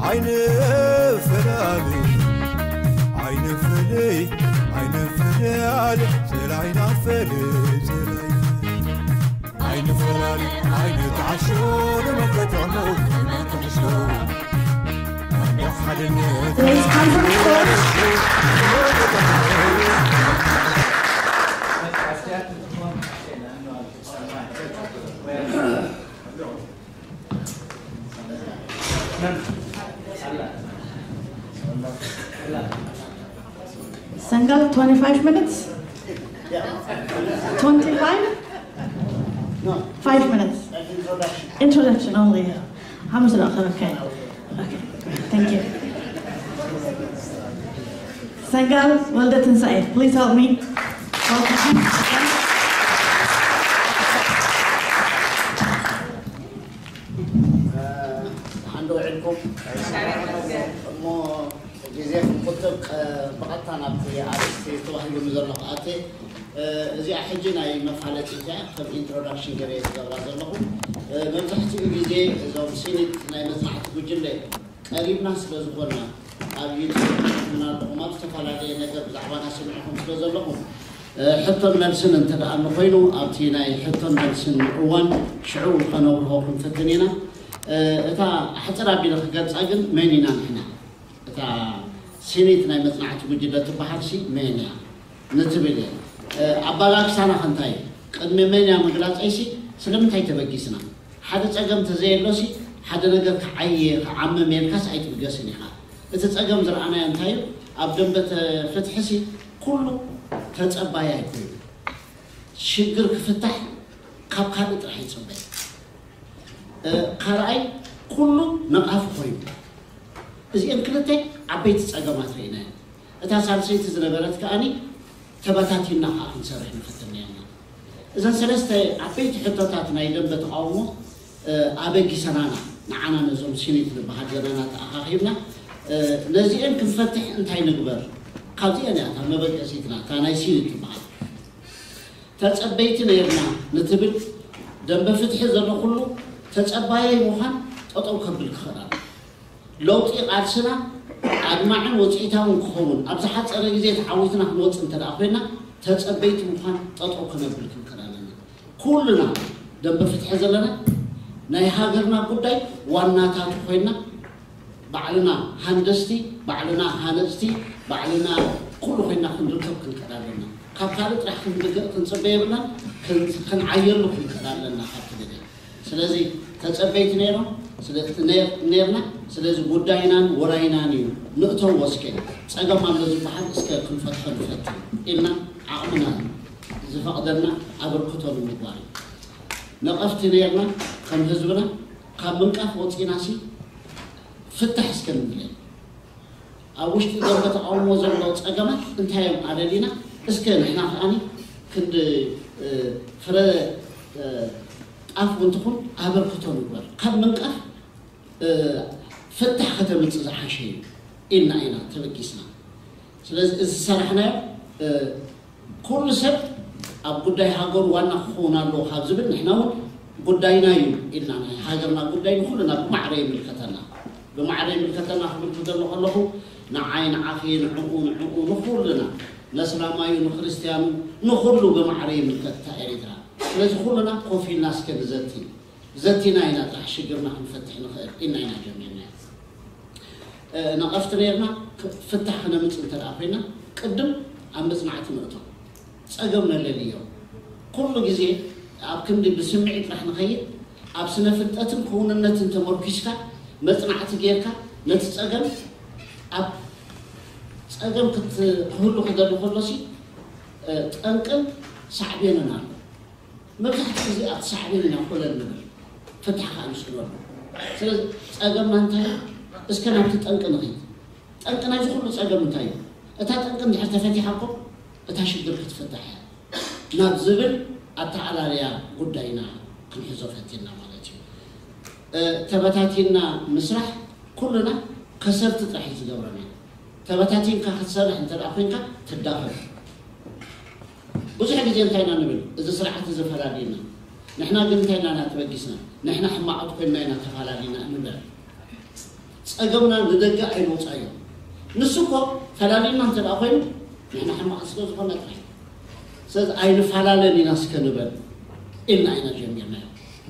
ኣይንፈላለ ኣይንፍለይ ኣይንፍለያል፣ ጽላይና ፈለ ጽላይና ኣይንፈላለ ኣይንትዓሾ፣ ንመከተሞ ንመከተሞ ሓድነት Sangal, twenty-five minutes? twenty-five? No, Five minutes. an introduction. Introduction only. How much? Okay. Okay. Thank you. Sangal, well done, Saif. Please help me. Welcome. ደሓን ዶ ውዒልኩም? እሞ ግዜ ክንቁጥብ፣ ቀ- ብቐጥታ ናብቲ ኣርእስቲ ተዋሂቡኒ ዘሎ ክኣቲ። እ፣ እዚኣ ሕጂ ናይ መፋለጢ እያ፣ ከም ኢንትሮዳክሽን ገይረ ዝገብራ ዘለኹ። እ፣ መብዛሕትኡ ግዜ እዞም ሲኒት ናይ መጽናዕቲ ጉጅለ ቀሪብና ስለ ዝኾንና፣ ኣብ ዩቱብ ትሕትና ኣለኹም፣ ኣብ ዝተፈላለየ ነገር ብዛዕባና ሰሚዕኹም ስለ ዘለኹም፣ እ፣ ሕቶን መልስን እንተ ደኣ እንኮይኑ፣ ኣብቲ ናይ ሕቶን መልስን እዋን ሽዑ ከነብርሆ ክንፍትን ኢና። እ፣ እታ ኣሕጽር ኣቢለ ክገልጻ ግን መን ኢና ንሕና? እታ ሲኒት ናይ መጽናዕቲ ጉጅለ ትበሃል ሲ መን እያ ንትብል እየ። እ፣ ኣባላግሳና ከ እንታይ እዩ? ቅድሚ መን እያ ምግላጸይሲ ስለምንታይ ተበጊስና? ሓደ ጸገም ተዘየሎሲ ሓደ ነገር ክዓየ ክዓምም የልካስ ኣይትብገስን ኢኻ። እቲ ጸገም ዝረኣናዮ እንታይ እዩ? ኣብ ደንበ ተ- ፍትሕሲ ኩሉ ተጸባያይ ኮይኑ ሽግር ክፍታሕ ካብ ካልእ ጥራሕ ይጽበይ። እ፣ ካልኣይ ኩሉ ነቓፊ ኮይኑ እዚአን ክልተ ዓበይቲ ጸገማት ርኢናየን። እታ ሳልሰይቲ ዝነበረት ከኣኒ ተበታቲንና ከዓ ክንሰርሕ ንፈትን ነርና። እዘን ሰለስተ ዓበይቲ ሕቶታት ናይ ደንበ ተቃውሞ እ፣ ኣበጊሰናና ንዓና ነዞም ሲኒት ንበሃል ዘለና ተኣኻኺብና እ፣ ነዚአን ክንፈትሕ እንታይ ንግበር? ካብዚአን እያ እታ መበገሲትና እታ ናይ ሲኒት ትበሃል። ተጸበይቲ ነይርና ንትብል ደንበ ፍትሒ ዘሎ ኩሉ ተጸባያይ ምዃን ጠጠው ከብል ክኽእል ኣለዎ። ለውጢ ቃልስና ኣድማዕን ውፅኢታውን ክኸውን ኣብ ዝሓፀረ ግዜ ተዓዊትና ክንወፅእ እንተ ደኣ ኮይና ተፀበይቲ ምዃን ጠጠው ከነብል ክንክእል ኣለና። ኩልና ደንበ ፍትሒ ዘለና ናይ ሃገርና ጉዳይ ዋናታቱ ኮይና ባዕልና ሃንደስቲ፣ ባዕልና ሃነፅቲ፣ ባዕልና ኩሉ ኮይና ክንርከብ ክንክእል ኣለና። ካብ ካልእ ጥራሕ ክንድገ ክንፅበ የብልናን፣ ክንዓየሉ ክንክእል ኣለና ካብቲ ግዜ። ስለዚ ተጸበይቲ ነይሮም ነርና። ስለዚ ጉዳይናን ወራይናን እዩ። ንእተዎ እስከ ጸገም ኣሎ ዝበሃል እስከ ክንፈትሖ ንፈትን ኢልና ዓቕምና ዝፈቕደልና ኣበርክቶ ንምግባር እዩ። ነቐፍቲ ነርና ከም ህዝብና ካብ ምንቃፍ ወጺናሲ ፍታሕ እስከ ንብለይ። ኣብ ውሽጢ ደንበ ተቃውሞ ዘሎ ጸገማት እንታይ እዮም ኣለሊና እስከ ንሕና ከኣኒ ክንዲ ፍረ ጣፍ እውን ትኹን ኣበርክቶ ንግበር። ካብ ምንቃፍ ፍታሕ ከተምፅእ ዝሓሸ እዩ ኢልና ኢና ተበጊስና። ስለዚ እዚ ዝሰራሕናዮ ኩሉ ሰብ ኣብ ጉዳይ ሃገሩ ዋና ክኸውን ኣለዎ ካብ ዝብል ንሕና እውን ጉዳይና እዩ ኢልና ናይ ሃገርና ጉዳይ ንኩልና ብማዕረ ይምልከተና። ብማዕረ ይምልከተና ክብል ክደሎ ከለኹ ንዓይ ንዓኺ ንዕኡ ንዕኡ ንኩልና ነስላማዩ ንክርስትያኑ ንኩሉ ብማዕረ ይምልከት እታ ኤሪትራ። ስለዚ ኩልና ኮፍ ኢልና እስከ ንዘቲ ዘቲና ኢና ጥራሕ ሽግርና ክንፈትሕ ንኽእል ኢልና ኢና ጀሚርና። ነቐፍቲ ነርና ፍታሕ ክነምፅ እንተ ኮይና ቅድም ኣብ መፅናዕቲ ንእቶ ፀገም ነለልዮ። ኩሉ ግዜ ኣብ ክንዲ ብስምዒት ጥራሕ ንኸይድ ኣብ ስነ ፍልጠትን ክውንነትን ተመርኪስካ መፅናዕቲ ጌርካ ነቲ ፀገም ኣብ ፀገም ክህሉ ክደሊ ከሎሲ ጠንቅን ሳዕቤንን ኣሎ። መብዛሕትኡ ግዜ ኣብቲ ሳዕቤን ኢና ኮለል ንብል ፍታሕ ከዓ ንስእነሉ። ስለዚ ፀገምና እንታይ እዩ? እስከ ናብቲ ጠንቂ ንኺድ። ጠንቂ ናይዚ ኩሉ ፀገም እንታይ እዩ? እታ ጠንቂ እንድሕር ተፈቲሓ እኮ እታ ሽግር ክትፍታሕ እያ ናብ ዝብል ኣተዓላልያ ጉዳይና ክንሕዞ ፈቲና ማለት እዩ። ተበታቲንና ምስራሕ ኩልና ከሰርቲ ጥራሕ እዩ ዝገብረና። ተበታቲንካ ክትሰርሕ እንተ ኮይንካ ትዳኸም። ብዙሕ ግዜ እንታይ ኢና ንብል? እዚ ስርዓት እዚ ፈላልዩና። ንሕና ግን እንታይ ኢና ተበጊስና? ንሕና ሕማቓት ኮይንና ኢና ተፈላሊና ንብል። ጸገምና ንደገ ኣይነውጻዮ። ንሱ እኮ ፈላሊና እንተ ደኣ ኮይኑ ንሕና ሕማቕ ስለ ዝኾነ ጥራሕ። ስለዚ ኣይንፈላለን ኢና እስከ ንበል ኢልና ኢና ጀሚርናዮ።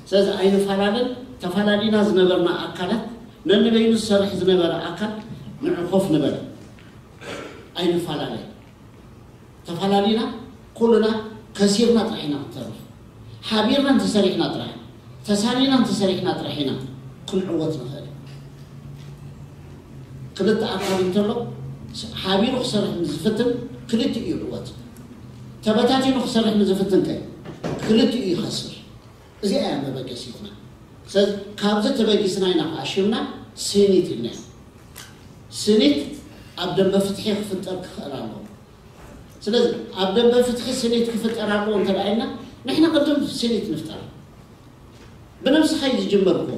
ስለዚ ኣይንፈላለን፣ ተፈላለና ዝነበርና ኣካላት፣ ነንበይኑ ዝሰርሕ ዝነበረ ኣካል ንዑ ኮፍ ንበል። ኣይንፈላለን። ተፈላለና ኩልና ከሲርና ጥራሕ ኢና ክንተርፍ። ሓቢርና እንተሰሪሕና ጥራሕ፣ ተሳኒና እንተሰሪሕና ጥራሕ ኢና ክንዕወት ንኽእል። ክልተ ኣካል እንተሎ ሓቢሩ ክሰርሕ ንዝፍትን ክልቲኡ ይዕወት። ተበታቲኑ ክሰርሕ ንዝፍትን ከ ክልቲኡ ይኸስር። እዚኣ እያ መበገሲትና። ስለዚ ካብዚ ተበጊስና ኢና ከዓ ሽምና ስኒት ኢልናዮ። ስኒት ኣብ ደንበ ፍትሒ ክፍጠር ክኽእል ኣለዎ። ስለዚ ኣብ ደንበ ፍትሒ ስኒት ክፍጠር ኣለዎ እንተ ደኣ ኢልና ንሕና ቅድም ስኒት ንፍጠር። ብነብስኻ እዩ ዝጅመር እኮ።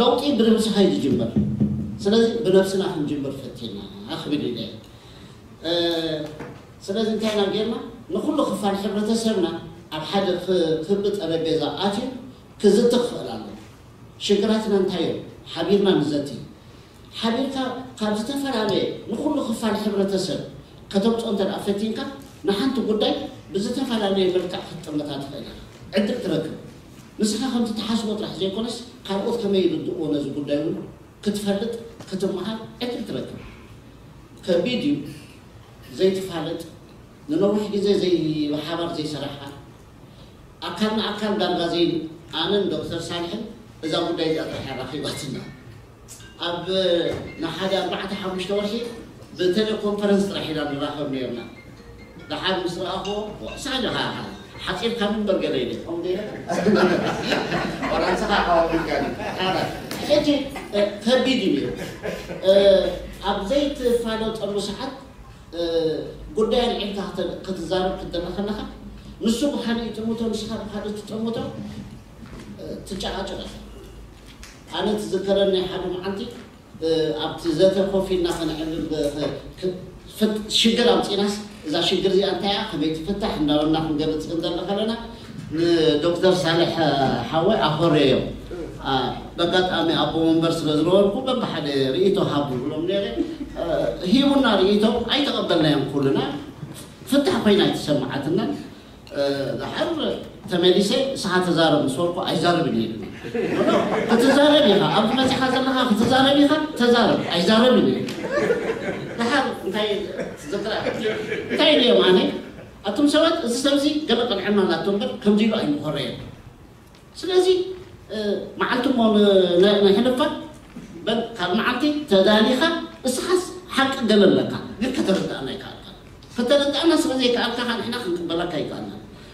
ለውጢ ብነብስኻ እዩ ዝጅመር። ስለዚ ብነብስና ክንጅምር ፈቲና ክብል ኢለ እየ። ስለዚ እንታይ ኢና ጌርና? ንኩሉ ክፋል ሕብረተሰብና ኣብ ሓደ ክቢ ጠረጴዛ ኣትዩ ክዝቲ ክኽእል ኣለዎ። ሽግራትና እንታይ እዮም? ሓቢርና ንዘቲ። ሓቢርካ ካብ ዝተፈላለየ ንኩሉ ክፋል ሕብረተሰብ ከተምፅኦ እንተ ደኣ ፈቲንካ ንሓንቲ ጉዳይ ብዝተፈላለየ መልክዕ ክትጥምታ ትኽእል ኢኻ። ዕድል ትረክብ። ንስኻ ከምቲ ትሓስቦ ጥራሕ ዘይኮነስ ካልኦት ከመይ ይርድእዎ ነዚ ጉዳይ እውን ክትፈልጥ ክትመሃር ዕድል ትረክብ። ከቢድ እዩ ዘይትፋለጥ ንነዊሕ ግዜ ዘይ ብሓባር ዘይሰራሕካ ኣካል ንኣካል ዳርጋ ዘይ ኣነን ዶክተር ሳልሕን እዛ ጉዳይ እዚኣ ጥራሕ ኣራኺባትና ኣብ ንሓደ ኣርባዕተ ሓሙሽተ ወርሒ ብቴሌኮንፈረንስ ጥራሕ ኢና ንራኸብ ነርና። ደሓር ምስ ረኣኽዎ ሳኒ ሓፂርካ ምንበር ገለ ኢለ ከምኡ ገይረ ወራንስኻ ሓዋዊልካኒ። ሕጂ ከቢድ እዩ ነይሩ። ኣብ ዘይትፋለጠሉ ሰዓት ጉዳይ ኣልዒልካ ክትዛረብ ክትደለ ከለኻ ንሱ ብካሊእ ይጥምቶ ንስኻ ብካሊእ ትጠምቶ ትጨቃጨቅ። ኣነ ትዝከረኒ ሓደ መዓልቲ ኣብቲ ዘተ ኮፍ ኢልና ከነዕልል ሽግር ኣምፂናስ እዛ ሽግር እዚኣ እንታይ እያ ከመይ ትፍታሕ እንዳበልና ክንገልፅ ክንደለ ከለና ንዶክተር ሳልሕ ሓወይ ኣኾረዮ። በጋጣሚ ኣቦ መንበር ስለ ዝነበርኩ በብሓደ ርእይቶ ሃብ ዝብሎም ነረ ሂቡና ርእይቶ ኣይተቐበልናዮም ኩልና። ፍታሕ ኮይና ኣይተሰማዓትናን። ደሓር ተመሊሰ ንስኻ ተዛረብ ምስ በልኩ ኣይዛረብን እየ ኢሉኒ። ክትዛረብ ኢኻ ኣብዚ መፂኻ ዘለኻ ክትዛረብ ኢኻ ተዛረብ ኣይዛረብን እየ። ደሓር እንታይ ዝክራ እንታይ ኢለዮም ኣነ ኣቱም ሰባት እዚ ሰብዚ ገለ ቅንዕና ናቶ እምበር ከምዚ ኢሉ ኣይምኾረየን። ስለዚ መዓልቲ እሞ ነሕልፋ በል ካብ መዓልቲ ተዳሊኻ እስኻስ ሓቂ ገለ ኣለካ ግን ከተረዳእና ይከኣልካ። ከተረዳእና ስለ ዘይከኣልካ ንሕና ክንቅበለካ ይከኣልና።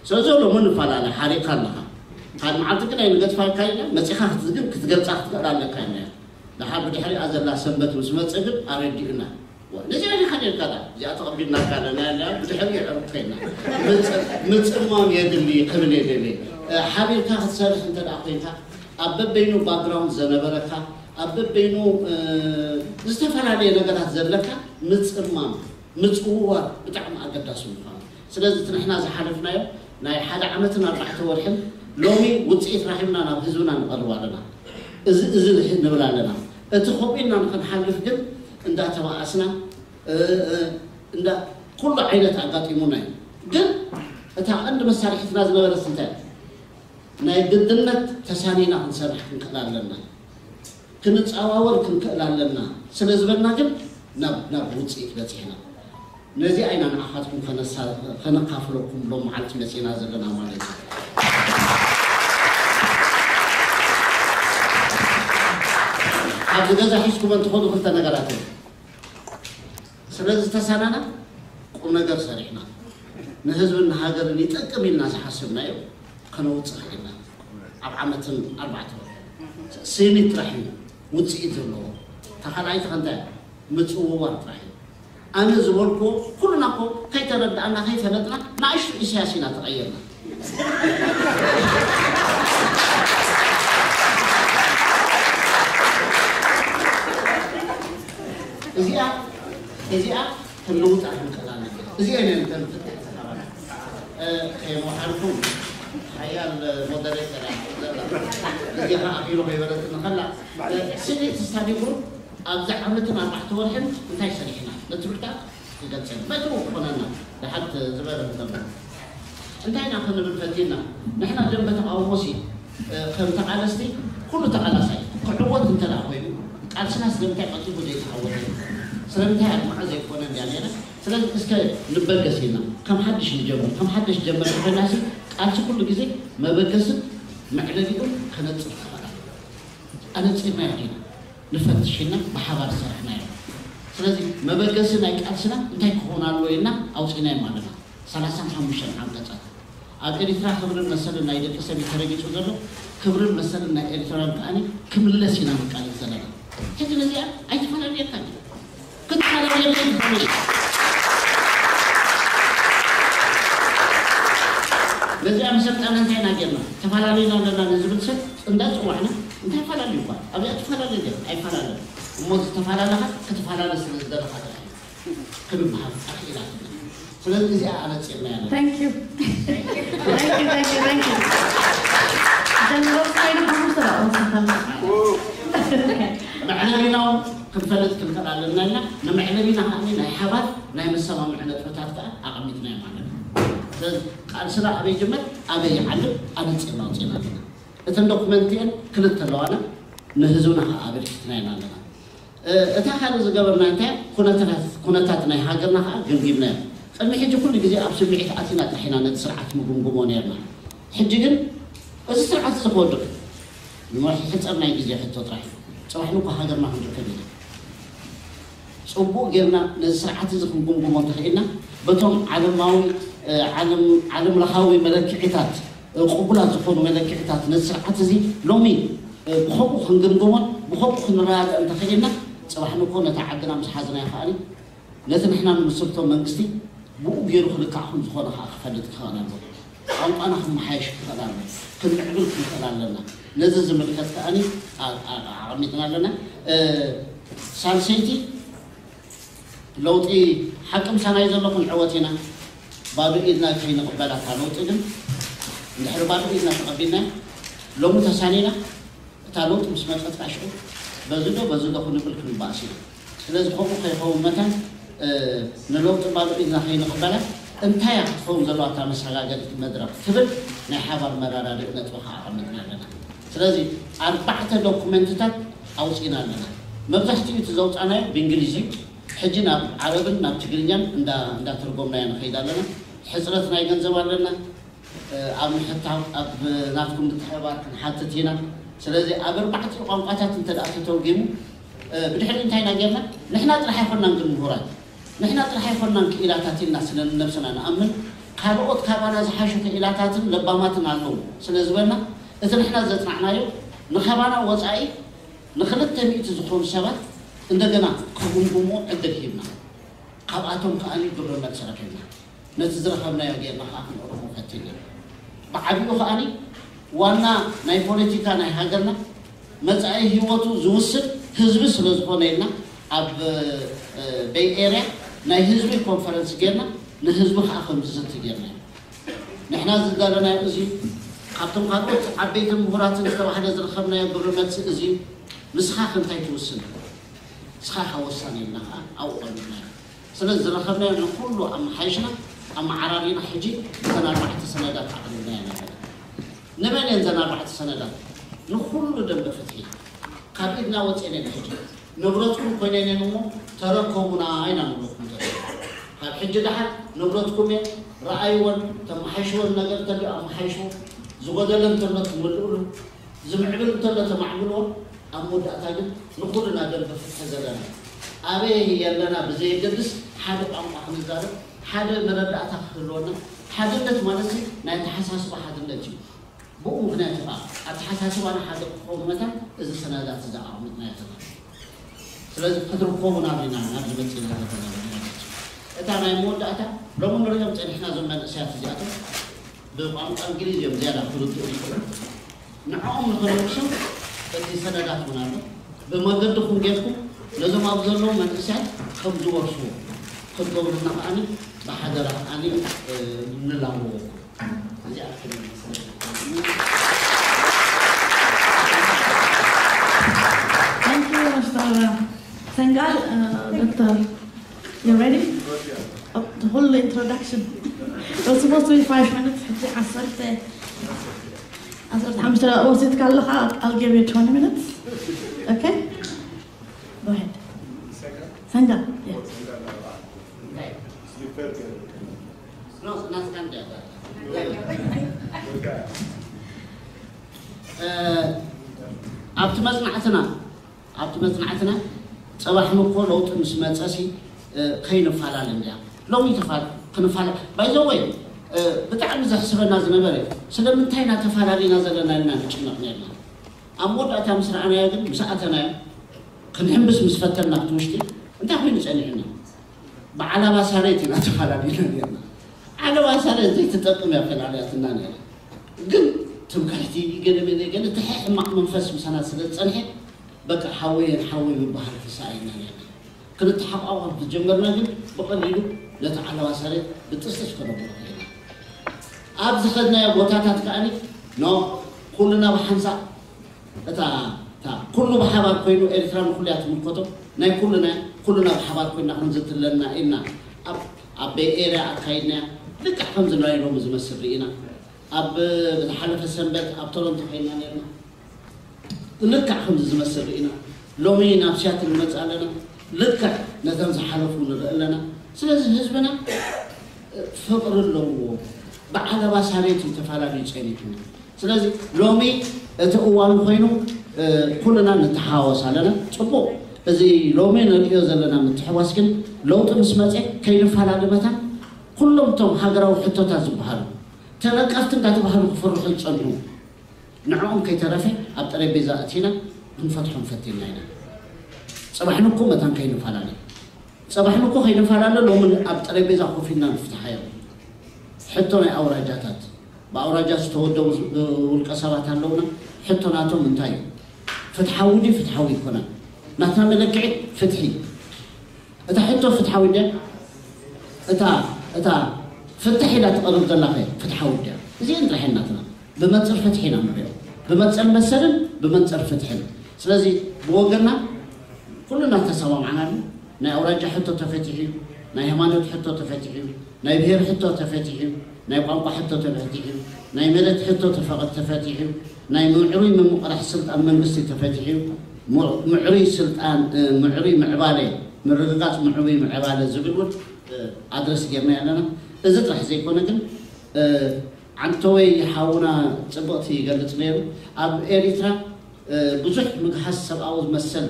ስለዚ ሎሚ ንፈላለ ሓሪቕካ ኣለኻ። ካብ መዓልቲ ግን ኣይንገድፋካ ኢና መፂኻ ክትዝግን ክትገልፃ ክትክእል ኣለካ ኢና። ደሓር ብድሕሪኣ ዘላ ሰንበት ምስ መፀ ግን ኣረዲኡና። ነዚኣ ዲኻ ኔርካ ዳ እዚኣ ተቐቢልናካ ኣለና ያለ ብድሕሪ የዕሩቕ ኮይና ምፅማም የድሊ ክብል የደሊ። ሓቢርካ ክትሰርሕ እንተ ደኣ ኮይንካ ኣብ በበይኑ ባክግራውንድ ዘነበረካ ኣብ በበይኑ ዝተፈላለየ ነገራት ዘለካ ምፅማም ምፅውዋር ብጣዕሚ ኣገዳሲ ምዃኑ። ስለዚ እቲ ንሕና ዝሓለፍናዮ ናይ ሓደ ዓመትን ኣርባዕተ ወርሕን ሎሚ ውፅኢት ራኺብና ናብ ህዝብና ንቐርብ ኣለና። እዚ እዚ ንብል ኣለና። እቲ ኮቢልና ንክንሓልፍ ግን እንዳተባኣስና እንዳ ኩሉ ዓይነት ኣጋጢሙና እዩ። ግን እታ ቀንዲ መሳርሒትና ዝነበረት እንታይ ናይ ግድነት ተሳኒና ክንሰርሕ ክንክእል ኣለና። ክንፀዋወር ክንክእል ኣለና ስለ ዝበልና ግን ናብ ናብ ውፅኢት በፂሕና። ነዚኣ ኢና ንዓኻትኩም ከነካፍለኩም ሎም መዓልቲ መፂና ዘለና ማለት እዩ። ኣብዚ ገዛ ሒዝኩመን ትኸዱ ክልተ ነገራት እዮም። ስለ ዝተሳናና ቁም ነገር ሰሪሕና ንህዝብን ንሃገርን ይጠቅም ኢልና ዝሓሰብናዮ ከነውፅእ ክኢልና ኣብ ዓመትን ኣርባዕተ ወርሒ ስኒት ጥራሕ እዩ ውፅኢት ዘለዎ። እታ ካልኣይቲ ከ እንታይ ምፅውዋር ጥራሕ እዩ። ኣነ ዝበልኩዎ ኩልና እኮ ከይተረዳእና ከይፈለጥና ንኣሽቱ ኢሳያስ ኢና ተቐየርና። እዚኣ እዚኣ ክንልውጣ ክንክእል ኣለና። እዚኣ ኢና ንተንፍት። ከየመሓልኩም ሓያል ሞደሬተር እያ ዘላ። እዚኣ ኣኺሉ ከይበለትኒ ከላ ስኒት ስታዲ ግሩፕ ኣብዚ ዓመትን ኣርባዕተ ወርሕን እንታይ ሰሪሕና? ነቲ ብርታት ክገልጸልና በቲ ክኾነና ድሓት ዝበረ እንተሎ እንታይ ኢና ክንብል ፈቲና? ንሕና ደንበ ተቃውሞሲ ከም ተቃለስቲ ኩሉ ተቃላሳይ ክዕወት እንተ ደኣ ኮይኑ ቃልስና ስለምንታይ ቀልጢፉ ዘይተዓወተ? ስለምንታይ ኣድማዒ ዘይኮነ እንድያ ነይረ? ስለዚ እስከ ንበገስ ኢልና ከም ሓድሽ ንጀምር። ከም ሓድሽ ጀመር ኮይናሲ ቃልሲ ኩሉ ግዜ መበገስን መዕለቢኡን ከነጽር ተኸላ ኣነጺርናዮ ዲና ንፈትሽ ኢልና ብሓባር ዝሰራሕናዮ። ስለዚ መበገሲ ናይ ቃልስና እንታይ ክኸውን ኣለዎ ኢልና ኣውፂእናዮም ኣለና። ሰላሳን ሓሙሽተን ዓንቀፃት ኣብ ኤሪትራ ክብርን መሰልን ናይ ደቂ ሰብ እዩ ተረጊፁ ዘሎ። ክብርን መሰልን ናይ ኤሪትራውያን ከዓኒ ክምለስ ኢና ንቃለስ ዘለና። ሕጂ ነዚኣ ኣይተፈላለየካን እዩ። ክትፈላለየለይ ትኽእል እዩ። ነዚኣ መሰልጠና እንታይ ኢና ጌርና? ተፈላለዩና ኣለና ንዝብል ሰብ እንዳፅዋዕና እንታይ ፈላለዩ እኳ ኣብዚኣ ትፈላለዩ ገር ኣይፈላለን እሞ ዝተፈላለኻ ክትፈላለ ስለ ዝደለኻ ጥራሕ እዩ ክንበሃል ኣኽኢላትና። ስለዚ እዚኣ ኣነፂርና ያለ Thank you. Thank you, thank you, thank you. General Said Bruce la on sa ma'am. መዕለቢናው ክንፈልጥ ክንክእል ኣለና ኢና። ንመዕለቢና ከዓኒ ናይ ሓባር ናይ መሰማምዒ ነጥብታት ከዓ ኣቐሚጥና ማለት እዩ። ስለዚ ቃልስና ኣበይ ጅመር ኣበይ ይዓልብ ኣነፂርና ኣውፅእና ኣለና። እተን ዶኩመንት እየን ክልተ ኣለዋና ንህዝብና ከዓ ኣበርኪትና ኢና ኣለና። እታ ካልእ ዝገበርና እንታይ ኩነታት ኩነታት ናይ ሃገርና ከዓ ገምጊምና ኢና። ቅድሚ ሕጂ ኩሉ ግዜ ኣብ ስምዒት ኣቲና ጥራሕ ኢና ነቲ ስርዓት ንግምግሞ ነርና። ሕጂ ግን እዚ ስርዓት እዚ ክወድቕ ንሕፀር ናይ ግዜ ሕቶ ጥራሕ እዩ። ፅባሕ ንኳ ሃገርና ክንርከብ ኢና። ፅቡቕ ጌርና ነዚ ስርዓት እዚ ክንግምግሞ እንተኽኢልና በቶም ዓለማዊ ዓለም ለኻዊ መለክዒታት ቅቡላት ዝኾኑ መለክዕታት ነዚ ስርዓት እዚ ሎሚ ብኸምኡ ክንግምግሞን ብኸምኡ ክንረዳዳእ እንተኽኢልና፣ ፅባሕ ንግሆ ነታ ዓድና ምስ ሓዝናዮ ከኣ ነቲ ንሕና ንምስርቶ መንግስቲ ብኡ ገይሩ ክልካዕ ከም ዝኾነ ከኣ ክፈልጥ ክኽእል ኣለዎ። ቋንቋና ክመሓየሽ ክኽእል ኣለዎ። ክንምዕብል ክንኽእል ኣለና። ነዚ ዝምልከት ከኣ ኣቐሚጥና ኣለና። ሳልሰይቲ ለውጢ ሓቂ ምሳና እዩ ዘሎ፣ ክንዕወት ኢና። ባዶ ኢድና ከይንቕበላ እታ ለውጢ ግን እንድሕሪ ባዶ ኢድና ተቐቢልና ሎሚ ተሳኒና እታ ለውጢ ምስ መፀት ከዓ ሽዑ በዚ ዶ በዚ ዶ ክንብል ክንበኣስ ኢና። ስለዚ ከምኡ ከይኸውን መታን ንለውጢ ባዶ ኢድና ከይንቕበላ እንታይ እያ ክትኸውን ዘለዋ እታ መሰጋገሪት መድረኽ ትብል ናይ ሓባር መረዳድኢ ነጥቢ ከዓ ኣቐሚጥና ኣለና። ስለዚ ኣርባዕተ ዶኩመንትታት ኣውፂእና ኣለና። መብዛሕትኡ እቲ ዘውፃናዮ ብእንግሊዝ እዩ። ሕጂ ናብ ዓረብን ናብ ትግርኛን እንዳተርጎምናዮ ንኸይድ ኣለና። ሕፅረት ናይ ገንዘብ ኣለና። ኣብ ምሕታው ኣብ ናትኩም ምትሕብባር ክንሓትት ኢና። ስለዚ ኣብ ኣርባዕቲኡ ቋንቋታት እንተ ደኣ ተተርጒሙ ብድሕሪ እንታይ ኢና ጌርና? ንሕና ጥራሕ ኣይኮናን ግን ምሁራት ንሕና ጥራሕ ኣይኮናን ክኢላታት ኢልና ስለ ንነብስና ንኣምን ካልኦት ካባና ዝሓሹ ክኢላታትን ለባማትን ኣለዉ ስለ ዝበልና እቲ ንሕና ዘጽናዕናዮ ንካባና ወጻኢ ንክልተ ሚእቲ ዝኾኑ ሰባት እንደገና ክግምግምዎ ዕድል ሂብና። ካብኣቶም ከኣ ግብረ መልሲ ረኺብና። ነቲ ዝረኸብናዮ ጌርና ከኣ ክነቕርቦ ፈቲና። ብዓቢኡ ከኣ ዋና ናይ ፖለቲካ ናይ ሃገርና መጻኢ ህይወቱ ዝውስን ህዝቢ ስለ ዝኾነ ኢልና ኣብ በይ ኤርያ ናይ ህዝቢ ኮንፈረንስ ጌርና ንህዝቢ ከኣ ከም ዝዝቲ ጌርና ኢና። ንሕና ዝደለናዮ እዚ ካብቶም ካልኦት ዓበይቲ ምሁራትን ዝተባህለ ዝረኸብናዮ ግብረ መልሲ እዚ እዩ። ንስኻ ከ እንታይ ትውስን? ንስኻ ኢኻ ወሳኒ ኢልና ከኣ ኣብኡ ቀሚጥናዮ። ስለዚ ዝረኸብናዮ ንኹሉ ኣመሓይሽና ኣመዓራሪና ሕጂ እተን ኣርባዕተ ሰነዳት ኣቕሪብናየን ኣለና። ንመን እየን እዘን ኣርባዕተ ሰነዳት? ንኹሉ ደንበ ፍትሒ። ካብ ኢድና ወፂኤን እየን ሕጂ። ንብረትኩም ኮይነን እየን እሞ ተረከቡና ኢና ንብለኩም ዘለና። ካብ ሕጂ ደሓር ንብረትኩም እየን፣ ረኣይወን፣ ተመሓይሽወን ነገር እንተልዩ ኣመሓይሽዎ፣ ዝጎደለ እንተሎ ትምልእሉ፣ ዝምዕብል እንተሎ ተማዕብልዎ፣ ኣብ መወዳእታ ግን ንኹልና ደንበ ፍትሒ ዘለና ኣበይ ኣለና ብዘየገድስ ሓደ ቋንቋ ክንዛረብ፣ ሓደ መረዳእታ ክህልወና፣ ሓድነት ማለት ናይ ኣተሓሳስባ ሓድነት እዩ። ብኡ ምኽንያት እዩ ከዓ ኣተሓሳስባና ሓደ ክኸውን መታን እዚ ሰነዳት እዚ ኣቐሚጥናዮ ዘለና። ስለዚ ክትርከቡ ናብና ናብዚ መፂና ዘለና ማለት እዩ። እታ ናይ መወዳእታ ሎሚ ንሪኦም ፀኒሕና እዞም መንእሰያት እዚኣቶም ብቋንቋ እንግሊዝ እዮም ዝያዳ ክርድኡ ይኽእሉ። ንዕኦም ንኽነውርሶም እቲ ሰነዳት እውን ኣሎ። ብመገድኹም ጌርኩም ነዞም ኣብ ዘለዉ መንእሰያት ከም ዝወርስዎ ክትገብሩልና ከዓኒ ብሓደራ ከዓኒ ንላበወኩም። እዚኣ ክትብል Thank you, Mister ሰንጋል ዶክተር you ready? The whole introduction. It was supposed to be five minutes. ሕጂ ዓሰርተ ዓሰርተ ሓሙሽተ ወሲድካ ኣለኻ። I'll give you twenty minutes. Okay? Go ahead. ሰንጋል. ኣብቲ መፅናዕትና ኣብቲ መፅናዕትና ፅባሕ ንኮ ለውጢ ምስ መፀሲ ከይንፈላለ እንዲያ ሎሚ ተፋል ክንፋለ ባይዘወይ ብጣዕሚ ዘሕስበና ዝነበረ እዩ። ስለምንታይ ኢና ተፈላለና ዘለና ኢልና ንጭነቕ ነርና። ኣብ መወዳእታ ምስ ረኣናዮ ግን ምስ ኣተናዮ ክንሕምብስ ምስ ፈተና ኣብቲ ውሽጢ እንታይ ኮይኑ ፀኒሑና? ብዓላባ ሳሬት ኢና ተፈላለና ነርና። ዓለባ ሳሬት ዘይትጠቅም እያ ፈላልያትና ነራ። ግን ትምክሕቲ ገለ መለ ገለ እቲ ሕማቕ መንፈስ ምሳና ስለ ዝፀንሐ በቃ ሓወየን ሓወይ ምበሃል ተሳኢና ነርና። ክንተሓቋቋፍ ዝጀመርና ግን ብቐሊሉ ነቲ ዓለባ ሳሬት ብጥስጥስ ከነብሎ ክኢልና። ኣብ ዝኸድናዮ ቦታታት ከኣኒ ኖ ኩልና ብሓንሳእ እታ እታ ኩሉ ብሓባር ኮይኑ ኤርትራ ንኩሉ እያ ትምልከቶ ናይ ኩልና ኩልና ብሓባር ኮይና ክንዝትለና ኢልና ኣብ ኣብ ቤይ ኤርያ ኣካይድናያ። ልክዕ ከምዚ ናይ ሎሚ ዝመስል ርኢና ኣብ ዝሓለፈ ሰንበት ኣብ ቶሮንቶ ኮይና ነርና። ልክዕ ከምዚ ዝመስል ርኢና ሎሚ ናብ ሲያትል ንመፅእ ኣለና። ልክዕ ነቶም ዝሓለፉ ንርኢ ኣለና። ስለዚ ህዝብና ፍቕሪ ኣለዎ። ብዓለባ ሳሬት እዩ ተፈላለዩ ፀኒሑ። ስለዚ ሎሚ እቲ እዋኑ ኮይኑ ኩልና ንተሓዋወስ ኣለና። ፅቡቕ እዚ ሎሚ ንርእዮ ዘለና ምትሕዋስ ግን ለውጢ ምስ መፀ ከይንፈላለ መታን ኩሎም እቶም ሃገራዊ ሕቶታት ዝበሃሉ ተነቀፍቲ እንዳተባሃሉ ክፍርሑ ዝፀንሑ ንዕኦም ከይተረፈ ኣብ ጠረጴዛ እቲና ክንፈትሖም ፈቲና ኢና። ፅባሕ ንኩ መታን ከይንፈላለ ፅባሕ ንኩ ከይንፈላለ ሎሚ ኣብ ጠረጴዛ ኮፍ ኢልና ንፍትሓዮም። ሕቶ ናይ ኣውራጃታት ብኣውራጃ ዝተወደቡ ውልቀ ሰባት ኣለውና። ሕቶ ናቶም እንታይ እዩ? ፍትሓዊ ድዩ ፍትሓዊ ይኮነን? ናትና መለክዒ ፍትሒ። እታ ሕቶ ፍትሓዊ ድያ? እታ እታ ፍትሕ ኢላ ትቐርብ ዘላ ከ ፍትሓዊ ድያ? እዚአን ጥራሕ ናትና ብመንፅር ፍትሒ ኢና ንሪኦ። ብመንፅር መሰልን ብመንፅር ፍትሕን። ስለዚ ብወገና ኩልና ተሰማምዓናሉ። ናይ ኣውራጃ ሕቶ ተፈቲሑ እዩ። ናይ ሃይማኖት ሕቶ ተፈቲሑ እዩ። ናይ ብሄር ሕቶ ተፈቲሑ እዩ። ናይ ቋንቋ ሕቶ ተፈቲሑ እዩ። ናይ መሬት ሕቶ ተፈቐ- ተፈቲሑ እዩ። ናይ ምዕሩይ ምምቕራሕ ስልጣን መንግስቲ ተፈቲሑ እዩ። ምዕ- ምዕሩይ ስልጣን እ፣ ምዕሩይ ምዕባለ ምርግጋፅ ምዕሩይ ምዕባለ ዝብል እውን እ፣ ኣድረስ ጌርና ኣለና። እዚ ጥራሕ ዘይኮነ ግን እ፣ ዓንተወይ ሓውና ፅብቕቲ ይገልፅ ነይሩ። ኣብ ኤሪትራ ብዙሕ ምግሃስ ሰብኣዊ መሰል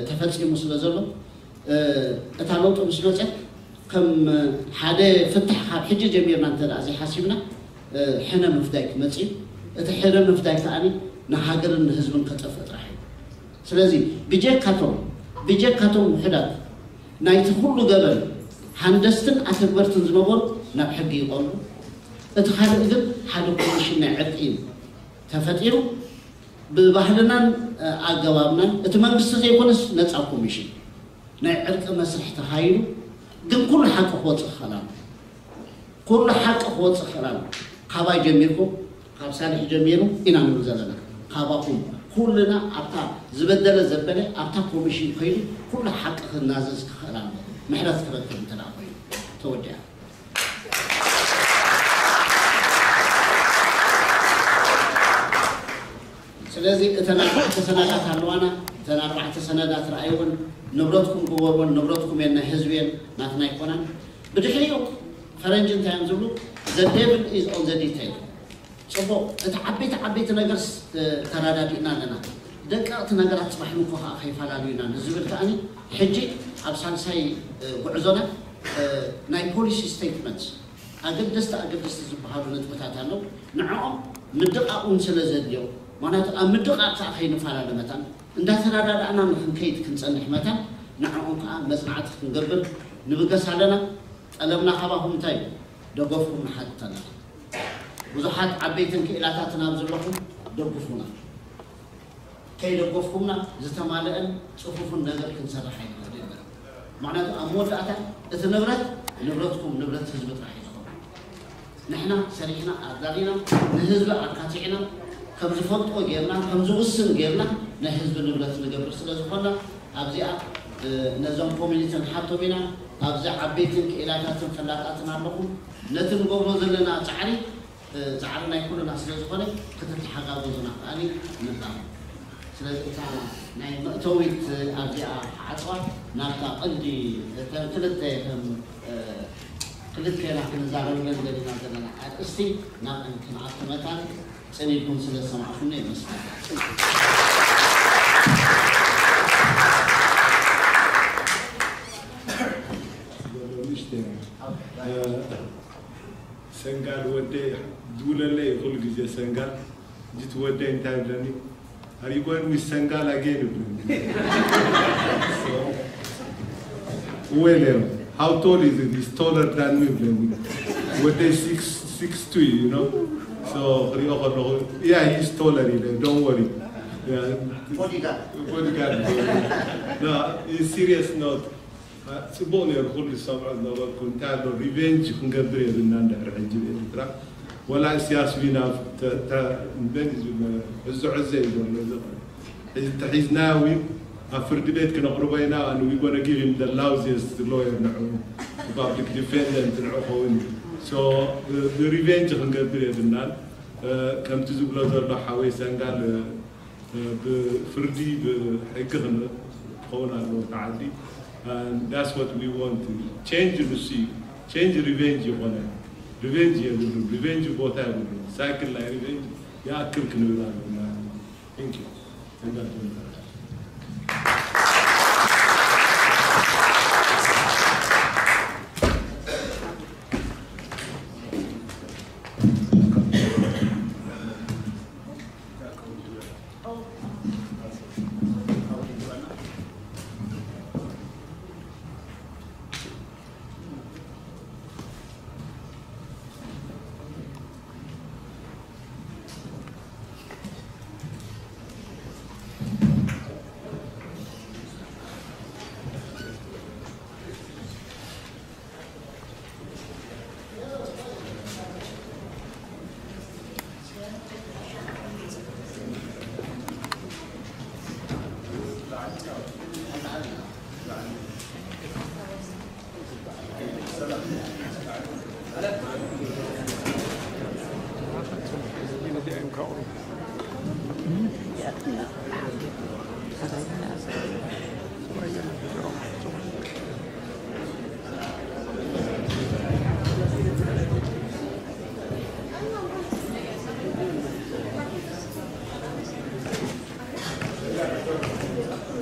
ተፈፂሙ ስለ ዘሎ እታ ለውጢ ምስ መፀት ከም ሓደ ፍታሕ ካብ ሕጂ ጀሚርና እንተ ዘይሓሲብና ሕነ ምፍዳይ ክመፅእ እዩ። እቲ ሕነ ምፍዳይ ከዓ ንሃገርን ንህዝብን ከጠፍእ ጥራሕ እዩ። ስለዚ ብጀካቶም ብጀካቶም ውሕዳት ናይቲ ኩሉ ገበን ሃንደስትን ኣተግበርትን ዝነበሩ ናብ ሕጊ ይቐርቡ። እቲ ካልእ ግን ሓደ ኮሚሽን ናይ ዕርቂ እዩ ተፈጢሩ። ብባህልናን ኣገባብናን እቲ መንግስቲ ዘይኮነስ ነፃ ኮሚሽን ናይ ዕርቂ መስርሕ ተኻይዱ። ግን ኩሉ ሓቂ ክወፅእ ክኽእል ኣሎ። ኩሉ ሓቂ ክወፅእ ክኽእል ኣሎ። ካባይ ጀሚርኩም ካብ ሳልሕ ጀሚሩ ኢና ንብል ዘለና። ካባኹም ኩልና ኣብታ ዝበደለ ዘበለ ኣብታ ኮሚሽን ከይዱ ኩሉ ሓቂ ክናዘዝ ክኽእል ኣሎ። ምሕረት ክረክብ እንተ ኮይኑ ተወዲኣ። ስለዚ እተን ኣርባዕተ ሰነዳት ኣለዋና። እተን ኣርባዕተ ሰነዳት ረኣይወን። ንብረትኩም ግበርወን። ንብረትኩም እየን፣ ናይ ህዝቢ እየን፣ ናትና ኣይኮናን። ብድሕሪኡ ፈረንጂ እንታይ እዮም ዝብሉ? The devil is on the detail። ፅቡቕ፣ እቲ ዓበይቲ ዓበይቲ ነገር ተረዳዲእና ኣለና። ደቀቕቲ ነገራት ፅባሕ ንኮ ከዓ ከይፈላለዩና ንዝብል ከዓኒ ሕጂ ኣብ ሳልሳይ ጉዕዞና ናይ ፖሊሲ ስቴትመንት ኣገደስቲ ኣገደስቲ ዝበሃሉ ነጥብታት ኣለዉ። ንዕኦም ምድቓቕ እውን ስለ ዘድልዮ፣ ምክንያቱ ኣብ ምድቓቕ ከዓ ከይንፈላለ መታን እንዳተረዳዳእና ንክንከይድ ክንፀንሕ መታን ንዕኦም ከዓ መፅናዕቲ ክንገብር ንብገስ ኣለና። ጠለብና ካባኹም እንታይ እዩ? ደገፍኩም ንሓትት ኣለና። ብዙሓት ዓበይትን ክኢላታትን ኣብ ዘለኹም ደግፉና። ከይደገፍኩምና ዝተማለአን ፅፉፍን ነገር ክንሰርሕ ኣይንኽእል ኢና። ምክንያቱ ኣብ መወዳእታ እቲ ንብረት ንብረትኩም ንብረት ህዝቢ ጥራሕ እዩ ዝኸውን። ንሕና ሰሪሕና ኣዳሊና ንህዝቢ ኣካቲዕና ከም ዝፈልጦ ጌርና ከም ዝውስን ጌርና ናይ ህዝቢ ንብረት ንገብር ስለ ዝኾና ኣብዚኣ ነዞም ኮሚኒቲ ንሓቶም ኢና። ኣብዚ ዓበይትን ክኢላታትን ፈላጣትን ኣለኹም። ነቲ ንገብሮ ዘለና ፃዕሪ ፃዕሪ ናይ ኩልና ስለ ዝኾነ ክትተሓጋገዙና ከኣኒ ንጣም። ስለዚ እታ ናይ መእተዊት ኣብዚኣ ክዓፅዋ ናብታ ቀንዲ እተን ክልተ ከም ክልቴና ክንዛረበለን ዘለና ዘለና ኣርእስቲ ናብ ክንኣቱ መታን ፅን ኢልኩም ስለ ዝሰማዕኩምና የመስግን። ሰንጋል ወደይ ዝውለለይ ኩሉ ግዜ ሰንጋል ጅት ወደይ እንታይ ብለኒ ኣሪጎን ዊዝ ሰንጋል ኣገን ይብለኒ። ወይለ how tall is it? He's taller than me ይብለኒ። ወደይ six six two you know so ክሪኦ ከለኹ yeah he's taller ኢለ don't worry bodyguard bodyguard no serious note ጽቡቕ ነይሩ ኩሉ ዝሰምዖ ዝነበርኩ እንታይ ኣሎ ሪቨንጅ ክንገብር የብልና እንድሕር ሕጂ ብኤርትራ ወላ እስያስ ዊና መን እዩ ዝብሎ ሕዞ ሕዘ እዩ ዘሎ እዚ ተሒዝናዮ ዊን ኣብ ፍርዲ ቤት ክነቕርቦ ኢና and we gonna give him the loudest lawyer ንዑ public defendant ንዑ ኸውን እዩ so ሪቨንጅ ክንገብር የብልናን ከምቲ ዝብሎ ዘሎ ሓወይ ሰንጋል ብፍርዲ ብሕጊ ክኸውን ኣለዎ ተዓዲ that's what we want change ንሱ እዩ change revenge ይኾነ revenge የብሉን revenge ቦታ የብሉን cycle ናይ revenge ይኣክል ክንብል ኣለና thank you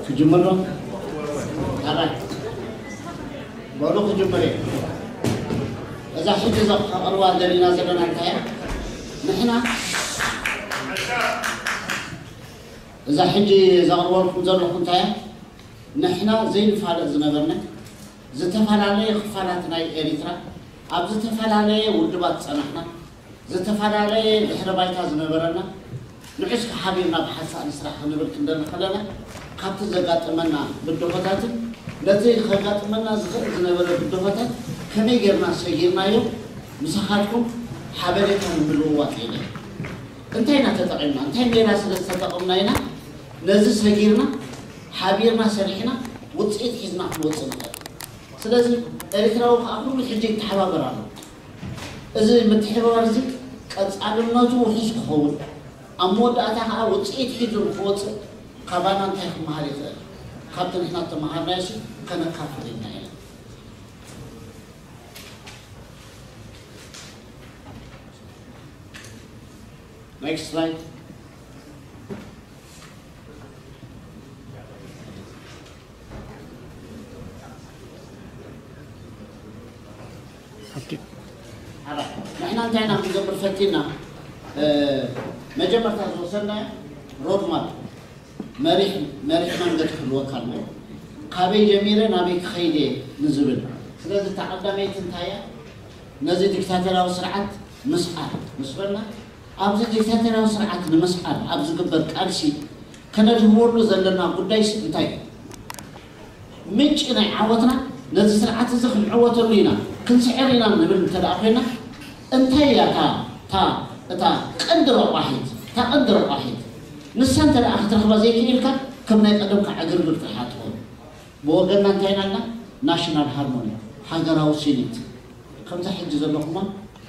ክጅምር ዶ? ኣራይ በሉ ክጅምር እየ። እዛ ሕጂ እዛ ከቕርባ ደሊና ዘለና እንታይ እያ? ንሕና እዛ ሕጂ ዘቕርበልኩም ዘለኹ እንታይ እያ? ንሕና ዘይንፋለጥ ዝነበርና ዝተፈላለየ ክፋላት ናይ ኤሪትራ ኣብ ዝተፈላለየ ውድባት ዝጸናሕና ዝተፈላለየ ድሕረ ባይታ ዝነበረና ንዑ እስከ ሓቢርና ብሓንሳእ ንስራሕ ክንብል ክንደሊ ከለና ካብቲ ዘጋጠመና ብድሆታትን ነቲ ከጋጥመና ዝኽእል ዝነበረ ብድሆታት ከመይ ጌርና ሰጊርናዮ ምሳኻትኩም ሓበሬታ ንምልውዋጥ ኢለ እንታይ ኢና ተጠቒምና እንታይ ሜላ ስለ ዝተጠቐምና ኢና ነዚ ሰጊርና ሓቢርና ሰሪሕና ውፅኢት ሒዝና ክንወፅእ ንኽእል ስለዚ ኤርትራዊ ከዓ ኩሉ ሕጂ ይተሓባበር ኣሎ እዚ ምትሕብባር እዚ ቀፃልነቱ ውሑስ ክኸውን ኣብ መወዳእታ ከዓ ውፅኢት ሒዙ ንክወፅእ ካባና እንታይ ክመሃር ይኽእል ካብቲ ንሕና እተመሃርናዮ ሲ ከነካፍል ኢና ኢና Next slide. ንሕና እንታይ ኢና ክንገብር ፈቲና መጀመርታ ዝወሰድናዮ ሮድማፕ መሪሕ መሪሕ መንገዲ ክህልወካ ኣለዎ ካበይ ጀሚረ ናበይ ክኸይድ እየ ንዝብል ስለዚ እታ ቀዳመይቲ እንታይ እያ ነዚ ዲክታተራዊ ስርዓት ምስዓር ምስ በልና ኣብዚ ዲክታተራዊ ስርዓት ንምስዓር ኣብ ዝግበር ቃልሲ ከነድህበሉ ዘለና ጉዳይሲ እንታይ እዩ? ምንጪ ናይ ዓወትና ነዚ ስርዓት እዚ ክንዕወተሉ ኢና ክንስዕር ኢና ንብል እንተ ደኣ ኮይና እንታይ እያ እታ እታ እታ ቀንዲ ረቋሒት እታ ቀንዲ ረቋሒት ንሳ እንተ ደኣ ክትረኽባ ዘይክኢልካ፣ ከም ናይ ቀደምካ ዕግርግር ጥራሕ ትኾን። ብወገንና እንታይ ኢና ኢልና? ናሽናል ሃርሞኒ፣ ሃገራዊ ስኒት። ከምዛ ሕጂ ዘለኹማ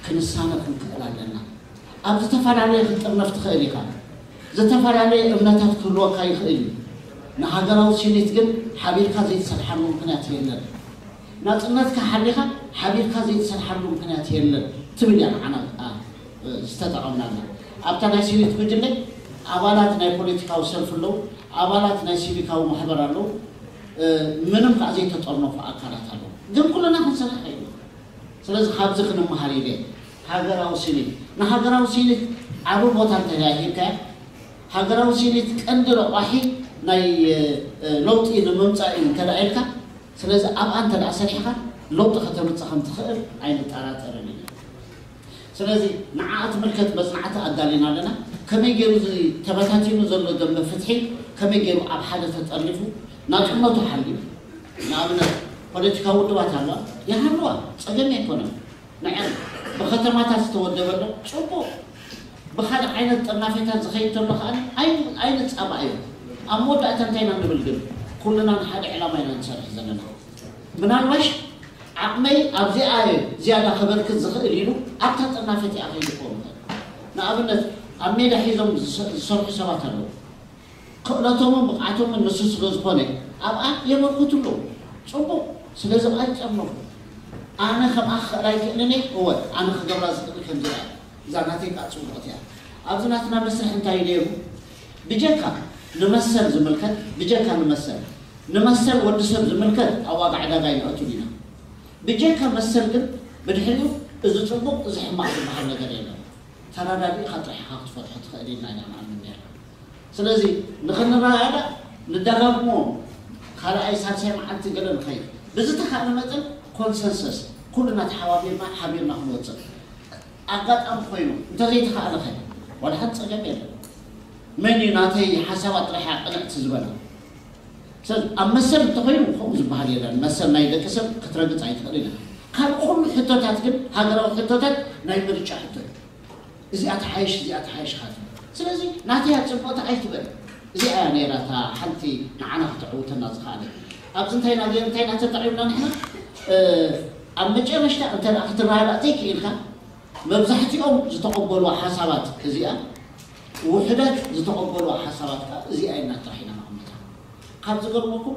ክንሳነ ክንክእል ኣለና። ኣብ ዝተፈላለየ ክትጥርነፍ ትኽእል ኢኻ። ዝተፈላለየ እምነታት ክህልወካ ይኽእል እዩ። ንሃገራዊ ስኒት ግን ሓቢርካ ዘይትሰርሓሉ ምኽንያት የለን። ናጽነትካ ሓሊኻ ሓቢርካ ዘይትሰርሓሉ ምኽንያት የለን ትብል እያ ንዓና ዝተጠቐምናላ። ኣብታ ናይ ስኒት ጉጅለ ኣባላት ናይ ፖለቲካዊ ሰልፊ ኣለዉ፣ ኣባላት ናይ ሲቪካዊ ማሕበር ኣለዉ፣ ምንም ከዓ ዘይተጠርነፉ ኣካላት ኣለዉ። ግን ኩልና ክንሰርሕ ከይና። ስለዚ ካብዚ ክንመሃር ኢለ። ሃገራዊ ስኒት፣ ንሃገራዊ ስኒት ዓቢ ቦታ እንተደኣ ሂብካያ፣ ሃገራዊ ስኒት ቀንዲ ረቋሒ ናይ ለውጢ ንምምፃእ እዩ እንተደኣ ኢልካ፣ ስለዚ ኣብኣ እንተደኣ ሰሪሕካ ለውጢ ከተምፅእ ከም ትኽእል ኣይንጠራጠርን ኢና። ስለዚ ንዓኣ ትምልከት መፅናዕቲ ኣዳሊና ኣለና። ከመይ ገይሩ እዚ ተበታቲኑ ዘሎ ደንበ ፍትሒ ከመይ ገይሩ ኣብ ሓደ ተጠርኒፉ ናፅነቱ ሓልዩ፣ ንኣብነት ፖለቲካዊ ውድባት ኣለዋ፣ ይሃልዋ፣ ፀገም ኣይኮነን። ንዐን ብከተማታት ዝተወደበ ኣሎ፣ ፅቡቕ። ብኻልእ ዓይነት ጥርናፌታት ዝኸይድ ተሎ ከዓ ኣይንፃባእዮ። ኣብ መወዳእታ እንታይ ኢና ንብል ግን? ኩልና ንሓደ ዕላማ ኢና ንሰርሕ ዘለና። ምናልባሽ ዓቕመይ ኣብዚኣ እየ ዝያዳ ከበርክት ዝኽእል ኢሉ ኣብታ ጥርናፌት እያ ከይዱ ክኸውን ይኽእል። ንኣብነት ኣብ ሜዳ ሒዞም ዝሰርሑ ሰባት ኣለዉ። ክእለቶምን ብቕዓቶምን ንሱ ስለ ዝኾነ ኣብኣ የበርክቱ ኣለዉ። ፅቡቕ። ስለዚ ኣብኣ ይጨመሩ። ኣነ ከምኣ ክኽእል ኣይክእልን እየ። እወ፣ ኣነ ክገብራ ዝኽእል ከምዚ እያ። እዛ ናተይ ከዓ ፅቡቕቲ እያ። ኣብዚ ናትና መስርሕ እንታይ እዩ ነይሩ? ብጀካ ንመሰል ዝምልከት፣ ብጀካ ንመሰል፣ ንመሰል ወዲ ሰብ ዝምልከት ኣብ ዋጋ ዕዳጋ ኣይንኣቱን ኢና። ብጀካ መሰል ግን ብድሕሪኡ እዚ ፅቡቕ፣ እዚ ሕማቕ ዝበሃል ነገር የለን። ተረዳዲእኻ ጥራሕ ኢኻ ክትፈትሖ ትኽእል ኢልና ኢና ንኣምን ነርና። ስለዚ ንኽንረዳዳእ ንደጋግሞ ካልኣይ ሳልሳይ መዓልቲ ገለ ንኸይድ ብዝተኻእለ መጠን ኮንሰንሰስ ኩልና ተሓባቢርና ሓቢርና ክንወፅእ ኣጋጣሚ ኮይኑ እንተዘይተኻእለ ኸ ዋላ ሓንቲ ፀገም የለን። መን እዩ ናተይ ሓሳባት ጥራሕ እያ ቅንዕቲ ዝበላ? ሰብ ኣብ መሰል እንተኾይኑ ከምኡ ዝበሃል የለን። መሰል ናይ ደቂ ሰብ ክትረግፅ ኣይትኽእልን ኢኻ። ካብ ኩሉ ሕቶታት ግን ሃገራዊ ሕቶታት ናይ ምርጫ ሕቶ እዩ። እዚኣ ትሓይሽ፣ እዚኣ ትሓይሽ ኢኻ ትብል። ስለዚ ናተይ እያ ፅብቕቲ ኣይትበል። እዚኣ እያ ነይራ እታ ሓንቲ ንዓና ክተዕውተና ዝኸኣለት። ኣብዚ እንታይ ኢና ገይር እንታይ ኢና ተጠቒምና ንሕና? ኣብ መጨረሽታ እንተ ደኣ ክትረዳዳእ ዘይክኢልካ መብዛሕትኦም ዝተቐበልዋ ሓሳባት እዚኣ፣ ውሑዳት ዝተቐበልዋ ሓሳባት ከዓ እዚኣ ኢልና ጥራሕ ኢና ነቐምጣ። ካብ ዝገርመኩም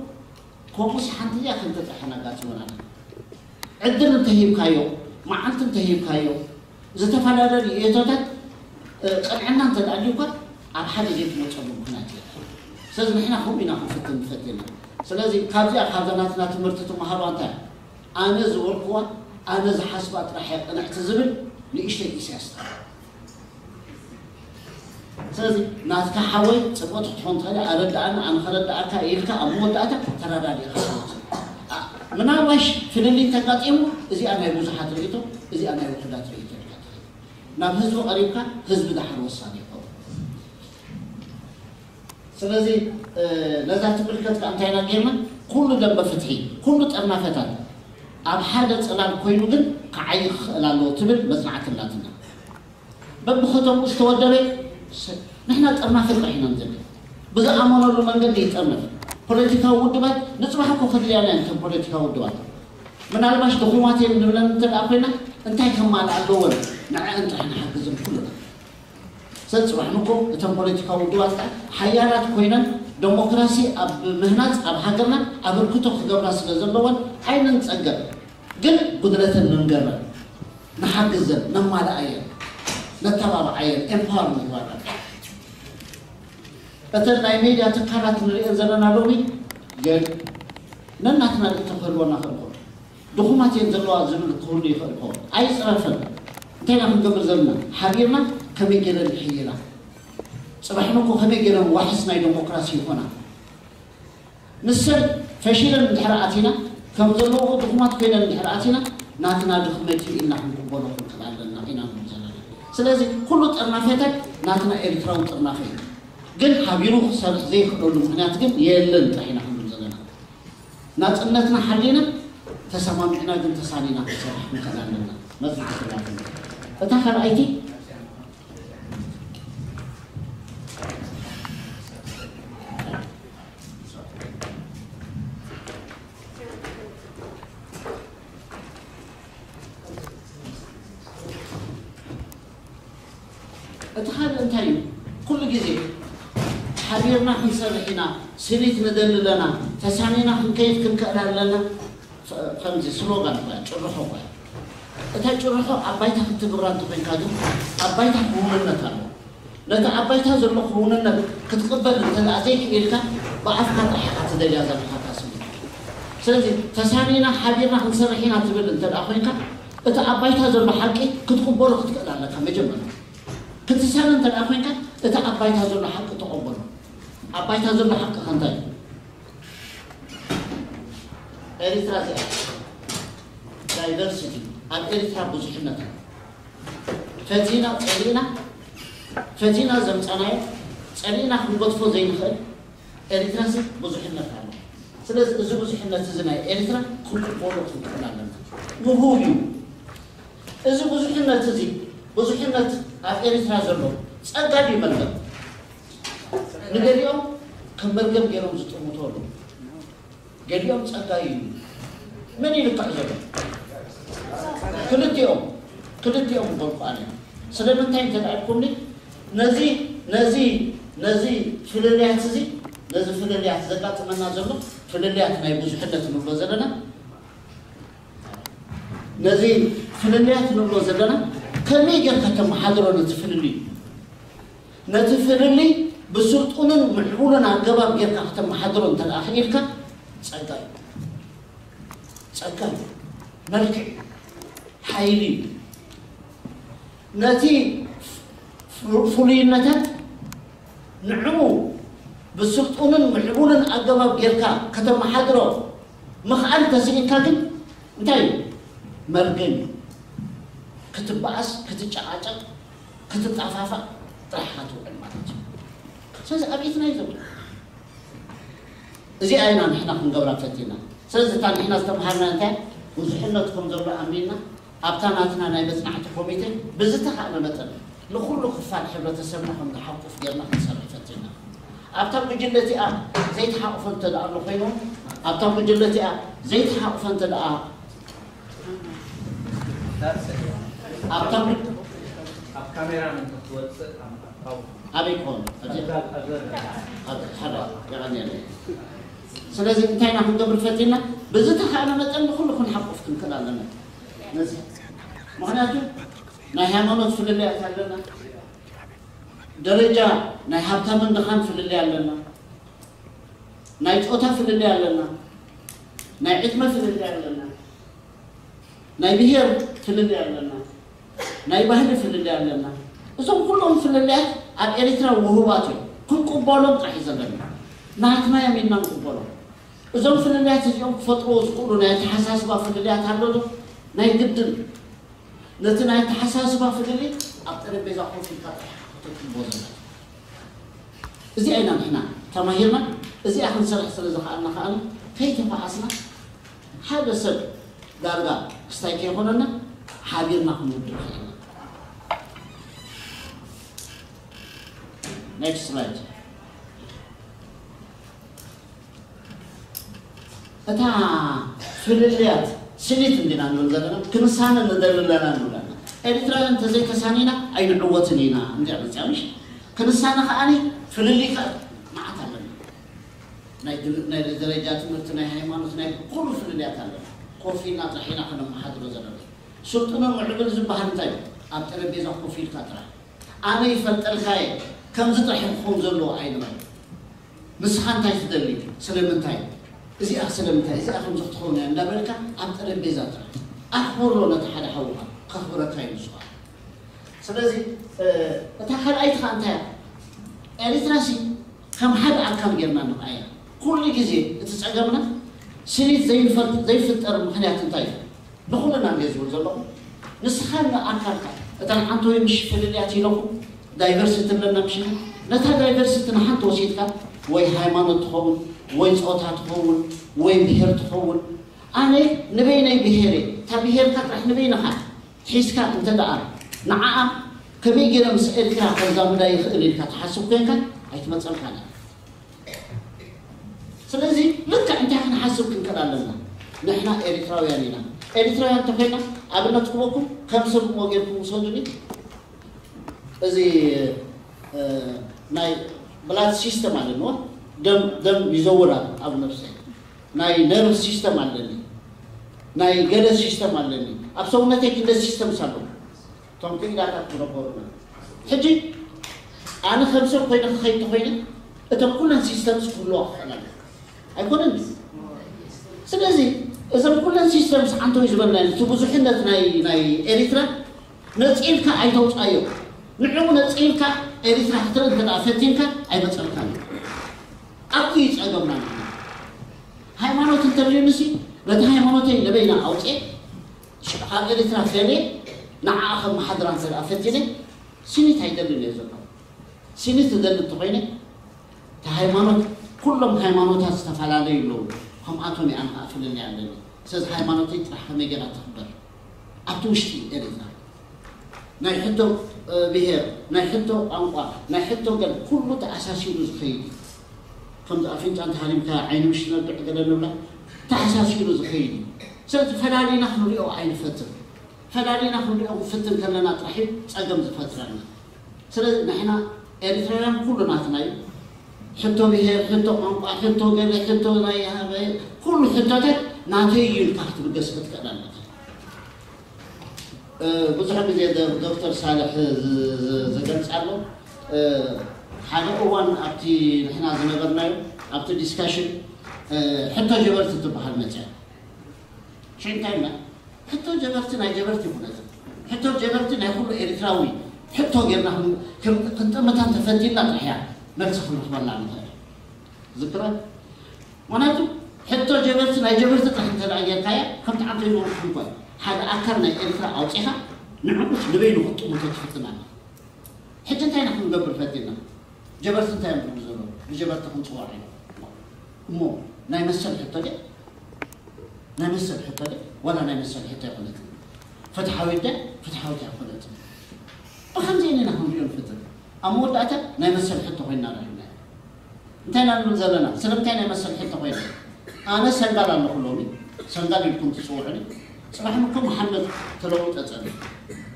ከምኡስ ሓንቲ እዚኣ ክልተ ጥራሕ ኢና ኣጋጢሙና። ዕድል እንተሂብካዮ፣ መዓልቲ እንተሂብካዮ፣ ዝተፈላለዩ እቶታት ቅንዕና እንተዳልዩካ ኣብ ሓደ ዘይትመፀሉ ምክንያት የለን። ስለዚ ንሕና ከምኡ ኢና ክንፍትን ንፈት የለን። ስለዚ ካብዚኣ ካብዛ ናትና ትምህርቲ ትመሃርዋ እንታይ? ኣነ ዝበልኩዋ ኣነ ዝሓስባ ጥራሕ እየ ቅንዕቲ ዝብል ንእሽተይ ኢሳያስ። ስለዚ ናትካ ሓወይ ፅቡቅ ክትኾን ትኽእል ኣረዳኣና ኣነ ከረዳኣካ ኢልካ ኣብ መወዳእታ ተረዳዲእካ ምናልባሽ ፍልልይ እንተጋጢሙ እዚኣ ናይ ብዙሓት ርእቶ እዚኣ ናይ ውሕዳት ርእቶ ኢልካ ትኸይድ ናብ ህዝቢ ቀሪብካ ህዝቢ ድሓር ወሳኒ ይኸውን። ስለዚ ነዛ ትምልከት ከዓ እንታይ ኢና ጌርና? ኩሉ ደንበ ፍትሒ ኩሉ ጠርናፈታት ኣብ ሓደ ፅላል ኮይኑ ግን ክዓይ ክኽእል ኣለዎ ትብል መፅናዕቲ ኣላትና። በብኸተምኡ ዝተወደበ ንሕና ጠርናፈ ጥራሕ ኢና ንዘብል ብዝኣመነሉ መንገዲ ይጠርነፍ። ፖለቲካዊ ውድባት ንፅባሕ እኮ ከድልያና እየን እተን ፖለቲካዊ ውድባት ምናልባሽ ድኹማት እየን ንብለን እንተ ደኣ ኮይና እንታይ ከማልኣ ኣለወን ንዐአን ጥራሕ ንሓግዘን ኩሉና። ሰብ ፅባሕ ንኮ እተን ፖለቲካዊ ውድባት ከዓ ሓያላት ኮይነን ደሞክራሲ ኣብ ምህናፅ ኣብ ሃገርና ኣበርክቶ ክገብራ ስለ ዘለወን ኣይንንፀገር። ግን ጉድለተን ንንገረን፣ ንሓግዘን፣ ነማልኣየን፣ ነተባብዓየን፣ ኤምፓወር ንግበረን። እተን ናይ ሜድያ ትካላት ንሪኤን ዘለና ሎሚ ግን ነናትና ርእቶ ክህልወና ክእል ድኹማት እየን ዘለዋ ዝብል ክህሉ ይኽእል ይኸውን። ኣይፅረፈን። እንታይ ኢና ክንገብር ዘለና? ሓቢርና ከመይ ገይረን ይሕይላ? ፅባሕ ንኮ ከመይ ገይረን ዋሕስ ናይ ዴሞክራሲ ይኾና? ንሰን ፈሺለን እንድሕር ኣቲና ከም ዘለዎ ድኹማት ኮይነን እንድሕር ኣቲና ናትና ድኽመት እዩ ኢልና ክንቅበሎ ክንክእል ኣለና ኢና ንብል ዘለና። ስለዚ ኩሉ ጥርናፌታት ናትና ኤርትራዊ ጥርናፌ እዩ። ግን ሓቢሩ ክሰርሕ ዘይክእለሉ ምኽንያት ግን የለን ጥራሕ ኢና ክንብል ዘለና። ናጽነትና ሓሊና ተሰማሚዕና ግን ተሳኒና ክንሰርሕ ክንክእል ኣለና። መጽናዕቲ ናትና። እታ ካልኣይቲ እቲ ካልእ እንታይ እዩ? ኩሉ ግዜ ሓቢርና ክንሰርሕ ኢና፣ ስኒት ንደሊ ኣለና፣ ተሳኒና ክንከይድ ክንክእል ኣለና። ከምዚ ስሎጋን እኳ ጭርሖ እኳ እታ ጭርሖ ኣብ ባይታ ክትትግብራ እንተኮንካ ግን ኣብ ባይታ ክውንነት ኣሎ። ነቲ ኣብ ባይታ ዘሎ ክውንነት ክትቕበል እንተ ዘይክኢልካ ብኣፍካ ጥራሕ ኢኻ ትደልያ ዘለኻ እታ ስኒት። ስለዚ ተሳኒና ሓቢርና ክንሰርሕ ኢና ትብል እንተ ኮይንካ እቲ ኣብ ባይታ ዘሎ ሓቂ ክትቕበሎ ክትክእል ኣለካ። መጀመርያ ክትሳነ እንተ ኮይንካ እቲ ኣብ ባይታ ዘሎ ሓቂ ተቐበሎ። ኣብ ባይታ ዘሎ ሓቂ ከንታይ እዩ? ኤሪትራ እዚኣ ዳይቨርሲቲ፣ ኣብ ኤሪትራ ብዙሕነት ኣሎ። ፈቲና ጸሊእና፣ ፈቲና ዘምጻናዮ ጸሊእና ክንገድፎ ዘይንኽእል ኤሪትራሲ ብዙሕነት ኣሎ። ስለዚ እዚ ብዙሕነት እዚ ናይ ኤሪትራ ክንቅበሎ ክንክእል ኣለና። ምሁብ እዩ። እዚ ብዙሕነት እዚ ብዙሕነት ኣብ ኤሪትራ ዘሎ ጸጋ ድዩ መርገም? ንገሊኦም ከም መርገም ገይሮም ዝጥምቱ ኣለዉ። ገሊኦም ጸጋ እዩ። መን ይልካዕ ዘሎ? ክልቲኦም ክልቲኦም ይበልኩ ኣነ። ስለምንታይ እንተ ኢልኩምኒ ነዚ ነዚ ነዚ ፍልልያት እዚ ነዚ ፍልልያት ዘጋጥመና ዘሎ ፍልልያት ናይ ብዙሕነት ንብሎ ዘለና ነዚ ፍልልያት ንብሎ ዘለና ከመይ ጌርካ ተመሓድሮ ነቲ ፍልልይ ነቲ ፍልልይ ብስልጡንን ምዕቡልን ኣገባብ ጌርካ ከተመሓድሮ እንተ ደኣ ክኢልካ ጸጋ እዩ። ጸጋ እዩ። መልክዕ እዩ። ሓይሊ እዩ። ነቲ ፍ- ፍሉይነታት ንዕኡ ብስልጡንን ምዕቡልን ኣገባብ ጌርካ ከተመሓድሮ ምኽኣል ተስኢንካ ግን እንታይ እዩ? መርገም እዩ። ክትበኣስ፣ ክትጨቃጨቅ፣ ክትጣፋፋእ ጥራሕ ኢኻ ትውዕል ማለት እዩ። ስለዚ ኣብ ኢትና እዩ ዘሎ። እዚኣ ኢና ንሕና ክንገብራ ፈቲና። ስለዚ እታ ንሕና ዝተምሃርና እንታይ ብዙሕነት ከም ዘሎ ኣሚንና ኣብታ ናትና ናይ መጽናዕቲ ኮሚቴ ብዝተኻእለ መጠን ንኹሉ ክፋል ሕብረተሰብና ከም ዝሓቁፍ ጌርና ክንሰርሕ ፈቲና። ኣብታ ጉጅለ እቲኣ ዘይተሓቑፈ እንተ ደኣ ኣሎ ኮይኑ ኣብታ ጉጅለ እቲኣ ዘይተሓቑፈ እንተ ደኣ ኣብታ ጉ- ኣብ ካሜራ እንትወፅእ ኣብ ኣካውንት ኣበይ ክኾን ኣብዚ ኣብዛ ኣብዛ ኣብ ሓደ የቐንየለይ። ስለዚ እንታይ ኢና ክንገብር ፈቲና ብዝተኻእለ መጠን ንኹሉ ክንሓቁፍ ክንክእል ኣለና። ነዚ ምክንያቱ ናይ ሃይማኖት ፍልልያት ኣለና። ደረጃ ናይ ሃብታምን ድኻን ፍልልይ ኣለና። ናይ ጾታ ፍልልይ ኣለና። ናይ ዕድመ ፍልልይ ኣለና። ናይ ብሄር ፍልልይ ኣለና። ናይ ባህሊ ፍልልይ ኣለና። እዞም ኩሎም ፍልልያት ኣብ ኤሪትራ ውሁባት እዮም። ክንቅበሎም ጥራሕ እዩ ዘለና። ናትና እዮም ኢልና ንቅበሎም። እዞም ፍልልያት እዚኦም ክፈጥርዎ ዝኽእሉ ናይ ኣተሓሳስባ ፍልልያት ኣሎ ዶ? ናይ ግድን ነቲ ናይ ኣተሓሳስባ ፍልልይ ኣብ ጠረጴዛ ኮፍ ኢልካ ጥራሕ ኢኻ ከተትግብሮ ዘለካ። እዚኣ ኢና ንሕና ተማሂርና፣ እዚኣ ክንሰርሕ ስለ ዝኸኣልና ከኣ ከይተፋኣስና ሓደ ሰብ ዳርጋ ክስታይ ከይኾነና ሓቢርና ክንውድእ ክኢልና። Next slide። እታ ፍልልያት ስኒት እንዲና ንብል ዘለና ክንሳነ ንደሊ ኣለና ንብል ኣለና። ኤሪትራውያን እንተዘይተሳኒና ኣይንዕወትን ኢና እንዲያ መፅያ ምሽ ክንሳነ ከዓኒ ፍልልይ ከ መዓት ኣለና። ናይ ድል- ናይ ደረጃ ትምህርቲ ናይ ሃይማኖት ናይ ኩሉ ፍልልያት ኣለና። ኮፍ ኢልና ጥራሕ ኢና ከነመሓድሮ ዘለና። ስልጡነ ምዕብል ዝበሃል እንታይ እዩ? ኣብ ጠረጴዛ ኮፍ ኢልካ ጥራሕ ኣነ ይፈልጠልካ እየ ከምዚ ጥራሕ ክኸውን ዘለዎ ኣይንበል። ንስኻ እንታይ ትደሊ? ስለምንታይ? እዚኣ ስለምንታይ? እዚኣ ከምዚ ክትኸውን እያ እንዳበልካ ኣብ ጠረጴዛ ጥራሕ ኣኽብሮ ነቲ ሓደ ሓውኻ ከኽብረካ እዩ ንሱ ከዓ። ስለዚ እታ ካልኣይቲ ከዓ እንታይ እያ? ኤሪትራ ሲ ከም ሓደ ኣካል ጌርና ንርኣያ። ኩሉ ግዜ እቲ ጸገምና ስኒት ዘይንፈል- ዘይፍጠር ምኽንያት እንታይ እዩ? ንኹልና እንድየ ዝብል ዘለኹ ንስኻን ኣካልካ እተን ዓንተወይ ምሽ ፍልልያት ኢለኹ ዳይቨርሲቲ ኣለና ምሽ ነታ ዳይቨርሲቲ ንሓንቲ ወሲድካ ወይ ሃይማኖት ትኸውን ወይ ፆታ ትኸውን ወይ ብሄር ትኸውን ኣነ ንበይነይ ብሄር እየ እታ ብሄርካ ጥራሕ ንበይንኻ ሒዝካ እንተ ደኣ ንዓኣ ከመይ ገይረ ምስ ኤርትራ ከዛምዳ ይኽእል ኢልካ ትሓስብ ኮንካ ኣይትመፀልካን እያ ስለዚ ልክዕ እንታይ ክንሓስብ ክንክእል ኣለና ንሕና ኤሪትራውያን ኢና ኤሪትራውያን እንተኮይና ኣብነት ክበኩም ከም ስርቅዎ ጌርኩም ውሰዱኒ እዚ ናይ blood system ኣለንዎ። ደም ደም ይዘውር ኣብ ነብሰይ። ናይ nerve system ኣለኒ፣ ናይ ገለ system ኣለኒ። ኣብ ሰውነተይ ክንደ systems ኣለዉ። እቶም ክኢላታት ክነበሩና። ሕጂ ኣነ ከም ሰብ ኮይነ ክኸይድ ተኾይነ እቶም ኩለን systems ክህልዋ ክኽእል ኣለዎ። ኣይኮነን? ስለዚ እዞም ኩለን systems ዓንተው ዝበልና እቲ ብዙሕነት ናይ ናይ ኤሪትራ ነፂልካ ኣይተውፃዮ። ንዕኡ ነፂልካ ኤሪትራ ክትርኢ እንተ ደኣ ፈቲንካ ኣይመፀልካን እዩ። ኣብቲ እዩ ፀገምና ንሕና። ሃይማኖት እንተልዩንሲ ነቲ ሃይማኖተይ ንበይና ኣውፅኤ ሽዑ ካብ ኤሪትራ ፈልየ ንዓኣ ከመሓድራ እንተ ደኣ ፈቲነ ሲኒት ኣይደልን እየ ዘሎ። ሲኒት ዝደሊ እንተኾይነ እቲ ሃይማኖት ኩሎም ሃይማኖታት ዝተፈላለዩ ኣለዉ። ከምኣቶም እየ ኣነ ከዓ ፍልልይ ኣለኒ። ስለዚ ሃይማኖተይ ጥራሕ ከመይ ገይራ ትኽበር ኣብቲ ውሽጢ ኤሪትራ ናይ ሕቶ ብሄር፣ ናይ ሕቶ ቋንቋ፣ ናይ ሕቶ ገል ኩሉ ተኣሳሲሩ ዝኸይድ እዩ። ከምዚ ኣፍንጫ እንተሃሪምካ ዓይኒ ምሽ ትነብዕ ገለ ንብላ ተኣሳሲሩ ዝኸይድ እዩ። ስለዚ ፈላሊና ክንሪኦ ኣይንፈትን። ፈላሊና ክንሪኦ ክንፍትን ከለና ጥራሕ እዩ ጸገም ዝፈጥረልና። ስለዚ ንሕና ኤሪትራውያን ኩሉ ናትና እዩ። ሕቶ ብሄር፣ ሕቶ ቋንቋ፣ ሕቶ ገለ፣ ሕቶ ናይ ሃበ፣ ኩሉ ሕቶታት ናተይ እዩ ኢልካ ክትብገስ ክትክእል ኣለካ። ብዙሕ ግዜ ዶክተር ሳልሕ ዝገልፅ ኣሎ። ሓደ እዋን ኣብቲ ንሕና ዝነበርናዮ ኣብቲ ዲስካሽን ሕቶ ጀበርቲ ትበሃል መፅያ ሽዑ እንታይ ኢልና ሕቶ ጀበርቲ ናይ ጀበርቲ ይኩነት ሕቶ ጀበርቲ ናይ ኩሉ ኤርትራዊ ሕቶ ጌርና ክንጥምታ ተፈቲና ጥሕያ መልሲ ክንረክበላ ንኽእል ዝክረ ምክንያቱ ሕቶ ጀበርቲ ናይ ጀበርቲ ጥራሕ እንተ ጌርካያ ከምቲ ዓንተ ይመርኩ እንኳ ሓደ ኣካል ናይ ኤርትራ ኣውፂኻ ንዕኡስ ንበይኑ ክጥምቶ ትፍትን ኣለ። ሕጂ እንታይ ኢና ክንገብር ፈቲና? ጀበርቲ እንታይ እዮም ዝብሉ ዘለዉ? ብጀበርቲ ክንፅዋዕ እዩ እሞ ናይ መሰል ሕቶ ደ ናይ መሰል ሕቶ ደ ዋላ ናይ መሰል ሕቶ ኣይኮነትን። ፍትሓዊት ደ ፍትሓዊት ኣይኮነትን። ብከምዚ ኢና ክንሪኦ ንፍትን። ኣብ መወዳእታ ናይ መሰል ሕቶ ኮይና ረኺብና። እንታይ ኢና ንብል ዘለና? ስለምንታይ ናይ መሰል ሕቶ ኮይና? ኣነ ሰንጋል ኣለኹ ሎሚ፣ ሰንጋል ኢልኩም ትፅውዑኒ። ፅባሕ ምኮ መሓመድ ተለውጠ ፀኒ።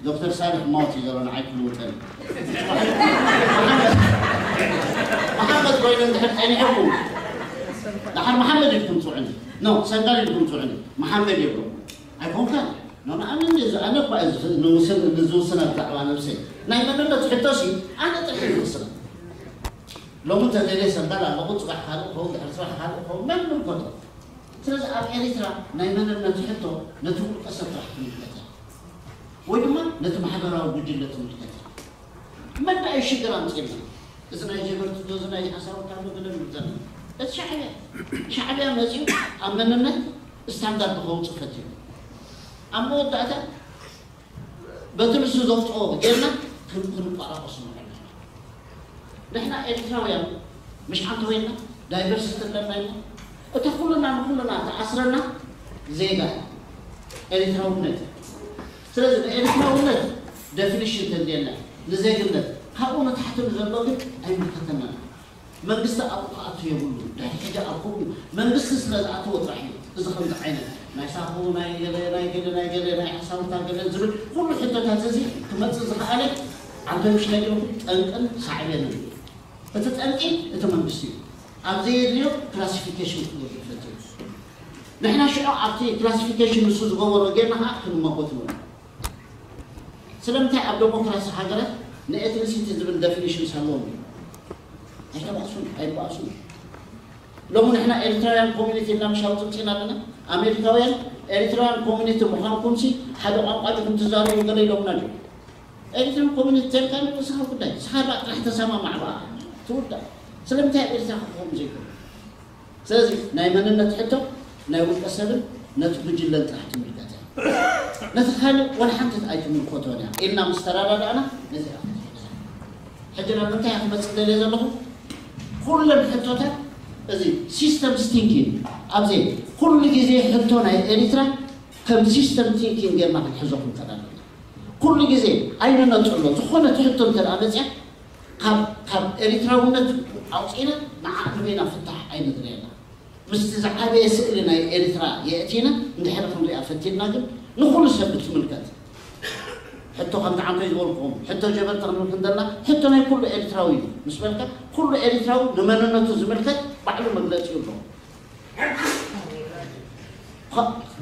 ዶክተር ሳልሕ ማውት እዩ ዘሎ ንዓይ ክልውጠኒ። መሓመድ ኮይነ እንድሕር ፀኒሐኩም፣ ደሓር መሓመድ ኢልኩም ፅውዕኒ። ኖ፣ ሰንጋል ኢልኩም ፅውዕኒ። መሓመድ ይብሎ። ኣይኮንካ? ኖ፣ ንኣምን እዚ ኣነ እኳ እዚ ንውስን ንዝውስና ብዛዕባ ነብሰይ ናይ መንነት ሕቶሲ ኣነ ጥርሒ ዝውስና ሎሚ እንተ ደልየ ሰንጋል ኣለኹ፣ ጽባሕ ካልእ ክኸውን፣ ድሕሪ ጽባሕ ካልእ ክኸውን፣ መን ይምልከቶ? ስለዚ ኣብ ኤሪትራ ናይ መንነት ሕቶ ነቲ ውልቀ ሰብ ጥራሕ ትምልከት እያ። ወይ ድማ ነቲ ማሕበራዊ ጉጅለ ትምልከት እያ። መን ደኣ እዩ ሽግር ኣምጺእልና? እዚ ናይ ጀበርቲ ዶ፣ እዚ ናይ ሓሳውካ ዶ፣ ገለ ንብል ዘለና። እቲ ሻዕብያ፣ ሻዕብያ መጺኡ ኣብ መንነት ስታንዳርድ ከውጽእ ፈቲኑ። ኣብ መወዳእታ በቲ ንሱ ዘውፅኦ ጌርና ክን- ክንቋራቆስ ንኽእል ኢና። ንሕና ኤርትራውያን ምሽ ሓንቲ ኮይና ዳይቨርሲቲ ኣለና ኢና። እታ ኩልና ንኩልና ተኣስረና ዜጋ እያ ኤርትራውነት። ስለዚ ንኤርትራውነት ደፊኒሽን ተድልየና ንዜግነት ካብኡ ንታሕቲ ንዘሎ ግን ኣይምልከተናን። መንግስቲ ኣብኡ ክኣቱ የብሉ። ድሕሪ ሕጂ ኣብ ከምኡ መንግስቲ ስለ ዝኣተወ ጥራሕ እዩ እዚ ከምዚ ዓይነት ናይ ሳሆ ናይ ገለ ናይ ገለ ናይ ገለ ናይ ሓሳውታ ገለ ዝብል ኩሉ ሕቶታት እዚ ክመፅእ ዝኸኣለ ዓንተምሽ ነጊርኩም ጠንቅን ሳዕቤንን እዩ። እቲ ጠንቂ እቲ መንግስቲ እዩ። ኣብ ዘየድልዮ ክላሲፊኬሽን ክገብር ፈትዩ። ንሕና ሽዑ ኣብቲ ክላሲፊኬሽን ንሱ ዝገበሮ ጌርና ከዓ ክንመጎት ንብል። ስለምንታይ ኣብ ደሞክራሲ ሃገራት ንኤትኒሲቲ ዝብል ደፊኒሽንስ ኣለዎም እዩ? ኣይተባእሱን ኣይባእሱን። ሎሚ ንሕና ኤሪትራውያን ኮሚኒቲ ኢልና ምሽ ኣውፅምፂና ኣለና። ኣሜሪካውያን ኤሪትራውያን ኮሚኒቲ ምዃንኩምሲ ሓደ ቋንቋ ዲኹም ትዛረቡ ገለ ኢሎምና ድዩ? ኤሪትራን ኮሚኒቲ ተልካ ንርእስኻ ጉዳይ ስኻ ባ ጥራሕ ተሰማማዕ ብኣ ትውዳእ። ስለምንታይ ኣብ ኤሪትራ ክኸውን ዘይኮነ? ስለዚ ናይ መንነት ሕቶ ናይ ውልቀ ሰብን ነቲ ጉጅለን ጥራሕ ትምልከት እያ። ነቲ ካልእ ወላ ሓንቲ ኣይትምልከቶን እያ ኢልና ምስ ተረዳዳእና ነዚኣ ክትሕግዛ። ሕጂ ናብ ምንታይ እያ ክመፅእ ደልየ ዘለኹ? ኩለን ሕቶታት እዚ ሲስተም ስቲንኪን ኣብዚ ኩሉ ግዜ ሕቶ ናይ ኤሪትራ ከም ሲስተም ቲንኪን ጌርና ክንሕዞ ክንከዳ ኣለና። ኩሉ ግዜ ኣይንነጥሎ ዝኾነ ትሕቶ እንተ ደኣ መፅያ ካብ ካብ ኤሪትራውነት ኣውፂእና ንዓ ንበይና ፍታሕ ኣይንድለየና። ምስቲ ዝዓበየ ስእሊ ናይ ኤርትራ የእቲና እንድሕር ክንሪኣ ፈቲንና ግን ንኹሉ ሰብ ብትምልከት ሕቶ ከምቲ ዓንተይ ዝበልኩኹም ሕቶ ጀበርቲ ክንብል ክንደልና ሕቶ ናይ ኩሉ ኤርትራዊ እዩ። ምስ በልካ ኩሉ ኤርትራዊ ንመንነቱ ዝምልከት ባዕሉ መግለጺ ኣለዎ።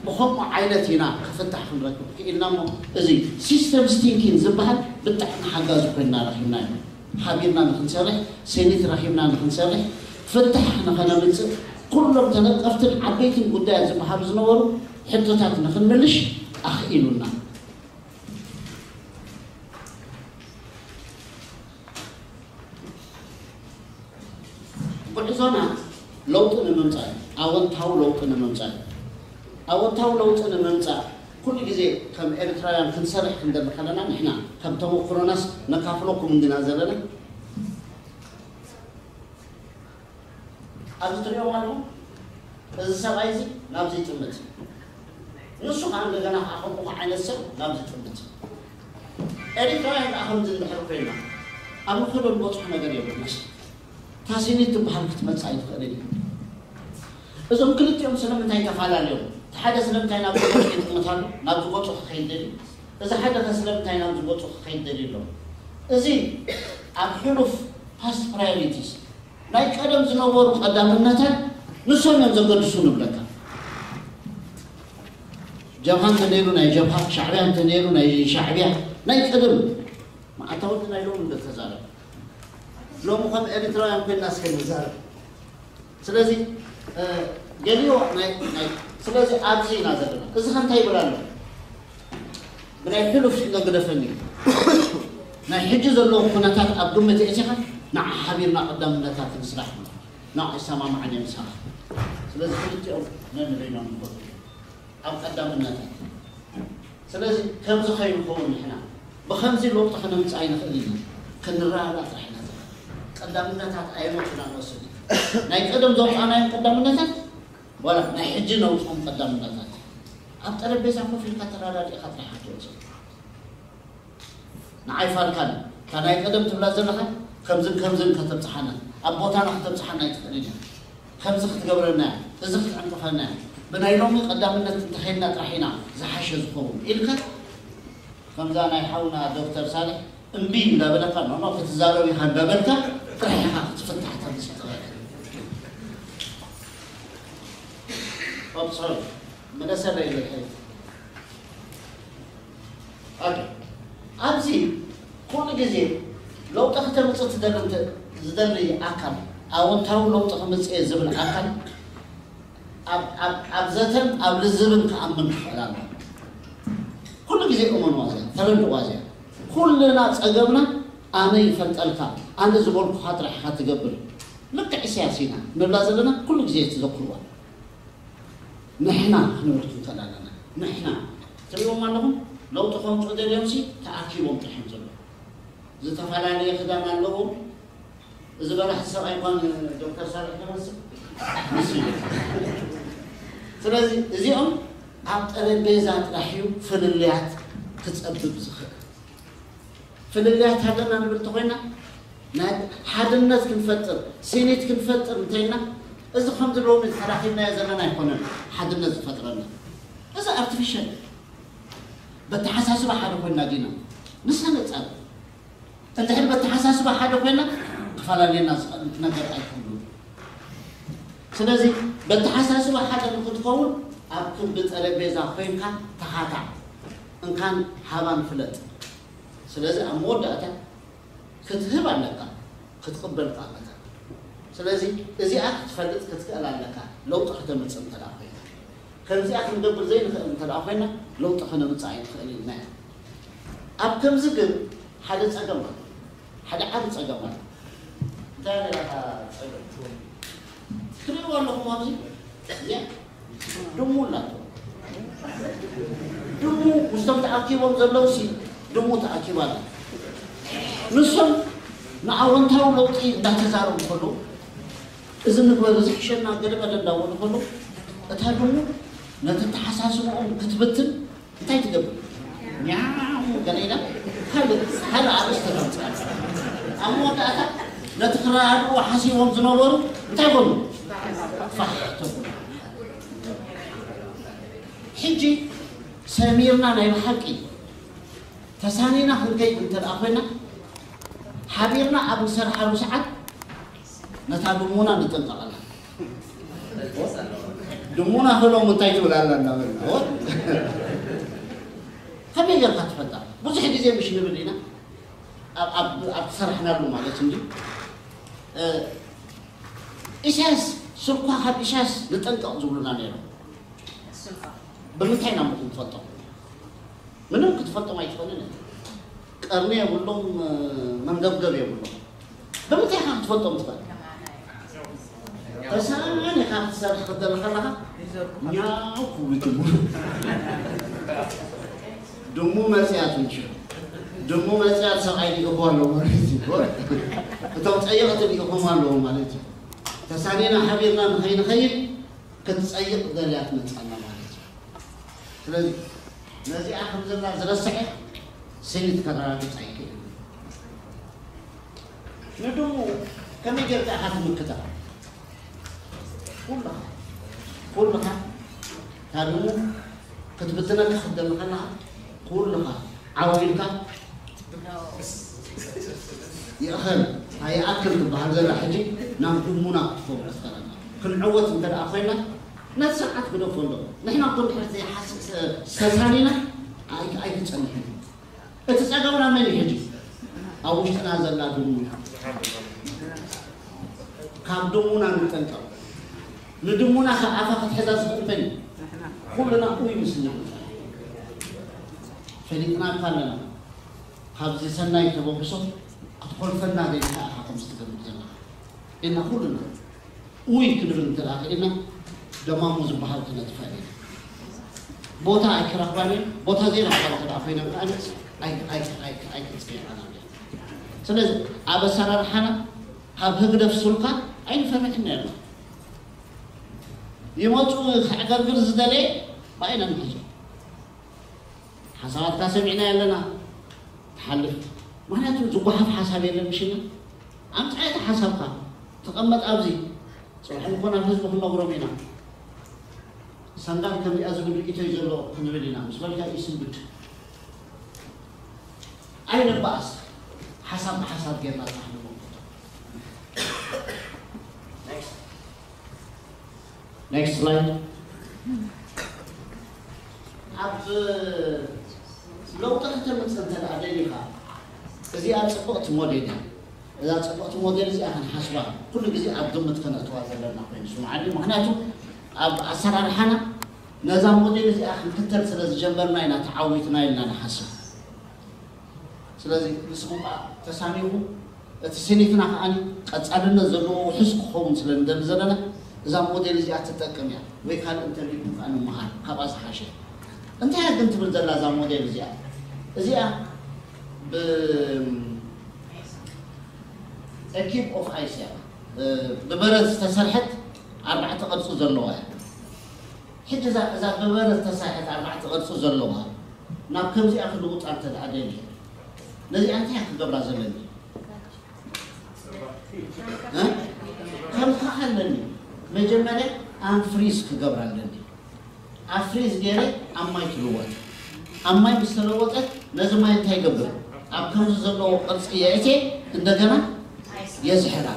ብኸምኡ ዓይነት ኢና ክፍታሕ ክንረክብ ክኢልና እሞ እዚ ሲስተምስ ቲንኪን ዝበሃል ብጣዕሚ ሓጋዚ ኮይና ረኪብናዮ። ሓቢርና ንክንሰርሕ፣ ሴኒት ረኪብና ንክንሰርሕ፣ ፍታሕ ንኸነምፅእ፣ ኩሎም ተነቀፍትን ዓበይትን ጉዳያት ዝበሃሉ ዝነበሩ ሕቶታት ንክንምልሽ ኣኽኢሉና። ጉዕዞና ለውጢ ንምምፃእ እዩ። ኣወንታዊ ለውጢ ንምምፃእ እዩ። ኣወንታዊ ለውጢ ንምምፃእ ኩሉ ግዜ ከም ኤርትራውያን ክንሰርሕ ክንደሊ ከለና ንሕና ከም ተመክሮናስ ነካፍለኩም እንዲና ዘለና። ኣብዚ ትሪኦም ኣለኹም። እዚ ሰብኣይ እዚ ናብዚ ይጥምት። ንሱ ከዓ እንደገና ከዓ ከምኡ ዓይነት ሰብ ናብዚ ይጥምት። ኤርትራውያን ከዓ ከምዚ እንድሕር ኮይና ኣብ ንኽዶ ንበፅሖ ነገር የብልናስ። ታሲኒ ትበሃል ክትመፅእ ኣይትኽእልን እዩ። እዞም ክልቲኦም ስለምንታይ ተፈላለዮም? እቲ ሓደ ስለምንታይ ናብ ዝጎፁ ይጥምት ኣሎ፣ ናብ ዝጎፁ ክኸይድ ደልዩ? እዚ ሓደ ከ ስለምንታይ ናብ ዝጎፁ ክኸይድ ደልዩ ኣሎ? እዚ ኣብ ሕሉፍ ፓስት ፕራዮሪቲስ ናይ ቀደም ዝነበሩ ቀዳምነታት ንሶም እዮም ዘገድሱ ንብለካ። ጀብሃ እንተነይሩ ናይ ጀብሃ፣ ሻዕብያ እንተነይሩ ናይ ሻዕብያ፣ ናይ ቀደም መዓልታዊ ናይ ሎሚ እንደ ተዛረብ ሎሚ ከም ኤርትራውያን ኮይና እስከ ንዛረብ። ስለዚ ገሊዮ ናይ ናይ ስለዚ ኣብዚ ኢና ዘለና። እዚ ከ እንታይ ይብል ኣሎ? ብናይ ሕሉፍ ስለ ግደፈኒ ናይ ሕጂ ዘለዉ ኩነታት ኣብ ግምት የእቲኻ ንዓ ሓቢርና ቀዳምነታት ንስራሕ ንዓ ይሰማማዓን እዮም ምሳኻ። ስለዚ ክልቲኦም ነንበይኖም ንፈቱ ኣብ ቀዳምነታት። ስለዚ ከምዚ ከይንኸውን ንሕና ብኸምዚ ለውጢ ከነምፅእ ኣይንኽእል ኢና። ክንረዳዳእ ጥራሕ ኢና ዘለና። ቀዳምነታት ኣየኖት ኢና ንወስድ? ናይ ቀደም ዘውፃእናዮም ቀዳምነታት ዋላ ናይ ሕጂ ነውፅኦም ቀዳምነታት። ኣብ ጠረጴዛ ኮፍ ኢልካ ተረዳዲእካ ጥራሕ ክትወፅእ። ንዓይ ፋልካን እታ ናይ ቀደም ትብላ ዘለኻ ከምዝን ከምዝን ከተብፅሓና ኣብ ቦታና ከተብፅሓና ኣይትኽእልን እያ። ከምዚ ክትገብረና እያ፣ እዚ ክትዕንቅፈና እያ፣ ብናይ ሎሚ ቀዳምነት እንተኸይድና ጥራሕ ኢና ዝሓሸ ዝኸውን ኢልካ ከምዛ ናይ ሓውና ዶክተር ሳልሕ እምቢ እንዳበለካ ኖ ኖ ክትዛረብ ኢኻ እንዳበልካ ጥራሕ ኢኻ ክትፍታሕ ተምፅእ ትኽእል። ኦፕ ሶሪ መለሰለይ ኢለ ድሕሪት። ኦኬ። ኣብዚ ኩሉ ግዜ ለውጢ ክተምፅእ ትደሊ እንተ ዝደሊ ኣካል ኣወንታዊ ለውጢ ክምፅእ እየ ዝብል ኣካል ኣብ- ኣብ- ኣብ ዘተን ኣብ ልዝብን ክኣምን ክኽእል ኣለዎ። ኩሉ ግዜ እመንዋ እዚኣ፣ ተረድእዋ እዚኣ። ኩልና ፀገምና ኣነ ይፈልጠልካ፣ ኣነ ዝበልኩኻ ጥራሕ ኢኻ ትገብር። ልክዕ ኢሳያስ ኢና ንብላ ዘለና ኩሉ ግዜ ትዘክርዋ። ንሕና ክንብል ክንክእል ኣለና። ንሕና ትሪእዎም ኣለኹም ለውጢ ከምፅኡ ደልዮም ሲ ተኣኪቦም ጥርሖም ዘለዉ ዝተፈላለየ ክዳን ኣለዎም። እዚ በላሕ ሰብኣይ እኳ ዶክተር ሳልሕ ተመስል ንሱ እዩ። ስለዚ እዚኦም ኣብ ጠረጴዛ ጥራሕ እዩ ፍልልያት ክፀብብ ዝኽእል። ፍልልያት ሃገርና ንብል እንተኮይና ናይ ሓድነት ክንፈጥር ሴኔት ክንፈጥር እንተይልና እዚ ከምዚ ሎሚ ተራኪብናዮ ዘለና ኣይኮነን። ሓድነት ዝፈጥረና እዚ ኣርቲፊሻል በተሓሳስባ ሓደ ኮይና ዲና ንሳ ነፃ እንድሕር በተሓሳስባ ሓደ ኮይና ክፈላለየና ዝኽእል ነገር ኣይኮኑን። ስለዚ በተሓሳስባ ሓደ ንክትከውን ኣብ ክቢ ጠረጴዛ ኮይንካ ተኻታዕ እንካን ሃባን ፍለጥ። ስለዚ ኣብ መወዳእታ ክትህብ ኣለካ ክትቕበል ኣለካ። ስለዚ እዚኣ ክትፈልጥ ክትክእል ኣለካ። ለውጢ ከተምፅእ እንተ ኮይና ከምዚኣ ክንገብር ዘይንኽእል እንተ ኮይና ለውጢ ከነምፅእ ኣይንኽእል ኢልና ኢና። ኣብ ከምዚ ግን ሓደ ፀገም ኣሎ። ሓደ ዓቢ ፀገም ኣሎ። እንታይ ነራኻ ፀገም? ትሪእዎ ኣለኹም ኣብዚ እዚኣ ድሙ ኣላቶ። ድሙ ምስቶም ተኣኪቦም ዘለዉ ሲ ድሙ ተኣኪባ ኣላ። ንሶም ንኣወንታዊ ለውጢ እንዳተዛረቡ ከለዉ እዚ ንግበር እዚ ሕሸና ገለ ገለ እንዳበሉ ከለዉ እታ ድሙ ነቲ ተሓሳስብኦም ክትብትን እንታይ ትገብር? ኛው ገለ ኢላ ካልእ ካልእ ኣርእስቲ ተምፅእ። ኣብ መወዳእታ ነቲ ክረዳድኡ ሓሲቦም ዝነበሩ እንታይ ኮኑ? ፋሕ ተብሉ። ሕጂ ሰሚርና ናይ ብሓቂ ተሳኒና ክንከይድ እንተ ደኣ ኮይና፣ ሓቢርና ኣብ ንሰርሓሉ ሰዓት ነታ ድሙና ንጥንቀቐላ። ድሙና ክሎም እንታይ ትብል ኣላ እናበልና፣ ኦ? ከመይ ጌርካ ትፈልጣ? ብዙሕ ግዜ ምሽ ንብል ኢና፣ ኣብ፣ ኣብ፣ ኣብ ትሰርሕናሉ ማለት እንጂ። እ፣ ኢሳያስ፣ ስልኳ ካብ ኢሳያስ ንጠንቀቕ ዝብሉና ነይሮም። ብምንታይ ኢና እሞ ክንፈልጦም? ምንም ክትፈልጦም ኣይትኽእልን ኢኻ። ቀርኒ የብሎም፣ መንገብገብ የብሎም። ብምንታይ ኢኻ ክትፈልጦም ትኽእል? ተሳኒኻ ክትሰርሕ ክትደሊ ከለኻ ኛው ክብሉ ይጅምሩ። ድሙ መጽያት እንጂ። ድሙ መጽያት ሰብኣይ ሊእኹ ኣሎ ማለት እዩ። እቶም ጸየቕቲ ሊእኹም ኣለዉ ማለት እዩ። ተሳኒና ሓቢርና ንኸይንኸይድ ክትጸይቕ ደልያ ትመጽኣና ማለት እዩ። ስለዚ ነዚኣ ከም ዘላ ዝረስዐ ስኒት ከረጋግጽ ኣይክእልን። ንድሙ ከመይ ጌርካ ኢኻ ትምክታ? ኩልኻ፣ ኩልኻ እታ ድሙ ክትብትነካ ክትደሊ ከለኻ ኩልኻ ዓው ኢልካ ይእኸል ኣይኣክል ትበሃል ዘላ ሕጂ ናብ ድሙና ክትከውን ክትኸለና ክንዕወት እንተ ደኣ ኮይና ነቲ ስርዓት ግደፎ ኣሎ። ንሕና እኮ እንድሕር ዘይሓስብ ተሳኒና ኣይ-፣ ኣይክጸንሕን እዩ። እቲ ጸገምና መን እዩ ሕጂ? ኣብ ውሽጥና ዘላ ድሙ እያ። ካብ ድሙና ንጠንቀቕ። ንድሙና ካብ ኣፋ ክትሕዛ ዝኽእል መን እዩ? ኩልና ኡይ ምስ እንብል ፈሊጥናካ ኣለና። ካብዚ ሰናይ ተበግሶ ክትኾልፈና ደሊኻ ኢኻ ከምዚ ትገብር ዘለኻ። እና ኩልና ኡይ ክንብል እንተ ደኣ ክኢልና ደማሙ ዝበሃል ክነጥፍእ ኢና። ቦታ ኣይክረኽባን እየን። ቦታ ዘይረኽባ እንተ ደኣ ኮይነን ከኣ ኣይ-፣ ኣይ-፣ ኣይ-፣ ኣይክጽይዓናን እየን። ስለዚ ኣብ ኣሰራርሓና ካብ ህግደፍ ሱልካ ኣይንፈርሕን ነርና። ይመጹ ከዕገርግር ዝደለየ ብኣይና ንሕዞ። ሓሳባትካ ሰሚዕና ኣለና። ትሓልፍ። ምኽንያቱ ዝጓሓፍ ሓሳብ የለን ምሽና። ኣምጽኣ እቲ ሓሳብካ። ተቐመጥ ኣብዚ። ጽባሕ እኮ ናብ ህዝቢ ክንነግሮም ኢና። ሰንጋል ከምዚኣ ዝብል ርእይቶ እዩ ዘሎ ክንብል ኢና። ምስ በልካ እዩ ስንብድ። ኣይንባኣስ። ሓሳብ ብሓሳብ ጌርና ጥራሕ ንመክቶ። Next. Next slide. ኣብ ለውጢ ከተምጽእ እንተ ደኣ ደሊኻ፣ እዚኣ ጽብቕቲ ሞዴል እያ። እዛ ጽብቕቲ ሞዴል እዚኣ ክንሓስባ፣ ኩሉ ግዜ ኣብ ግምት ከነእትዋ ዘለና ኮይኑ ይስምዓኒ። ምኽንያቱ፣ ኣብ ኣሰራርሓና ነዛ ሞዴል እዚኣ ክንክተል ስለ ዝጀመርና ኢና ተዓዊትና ኢልና ንሓስብ። ስለዚ ንስኹም ከኣ ተሳኒኹም፣ እቲ ስኒትና ከኣ ቀጻልነት ዘለዎ ውሑስ ክኸውን ስለ ንደሊ ዘለና፣ እዛ ሞዴል እዚኣ ትጠቅም እያ። ወይ ካልእ እንተልዩኩም ከኣ ንምሃር፣ ካብኣ ዝሓሸ። እንታይ እያ ግን ትብል ዘላ እዛ ሞዴል እዚኣ? እዚኣ ብ-፣ a cube of ice እያ። እ፣ ብበረድ ዝተሰርሐት ኣርባዕተ ቅርጺ ዘለዋ እያ። ሕጂ እዛ፣ እዛ ብበረድ ዝተሰርሐት ኣርባዕተ ቅርጺ ዘለዋ ናብ ከምዚኣ ክልውጣ እንተ ደኣ ደልየ፣ ነዚኣ እንታይ እየ ክገብራ ዘለኒ? እ? ከምካ ኣለኒ። መጀመርያ ኣንፍሪዝ ክገብራ ኣለኒ። ኣፍሪዝ ገይረ ኣብ ማይ ትልወጥ። ኣብ ማይ ምስ ተለወጠት ነዚ ማይ እንታይ ይገብር? ኣብ ከምዚ ዘለዎ ቅርጺ የእትየ እንደገና የዝሕላ።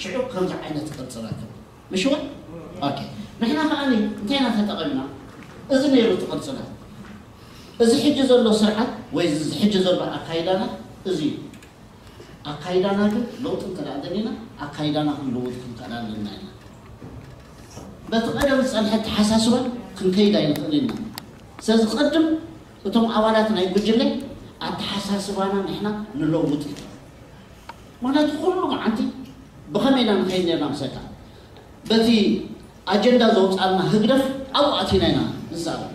ሽዑ ከምዚ ዓይነት ቅርጺ ረክብ። ምሽ እውን? ኦኬ። ንሕና ከኣ እንታይ ኢና ተጠቒምና? እዚ ነይሩ እቲ ቅርጽና። እዚ ሕጂ ዘሎ ስርዓት ወይ እዚ ሕጂ ዘሎ ኣካይዳና እዚ እዩ። ኣካይዳና ግን ለውጢ እንተ ደኣ ደሊና፣ ኣካይዳና ክንልውጥ ክንክእል ኣለና ኢና። በቲ ቀደም ዝጸንሐ ኣተሓሳስባ ክንከይድ ኣይንኽእል ኢና። ስለዚ ቅድም እቶም ኣባላት ናይ ጉጅለ ኣተሓሳስባና ንሕና ንለውጥ ኢና። ምኽንያቱ ኩሉ መዓልቲ ብኸመይ ኢና ንኸይድ ነርና ምሰካ? በቲ ኣጀንዳ ዘውጻልና ህግደፍ ኣብኡ ኣቲና ኢና ንዛረብ።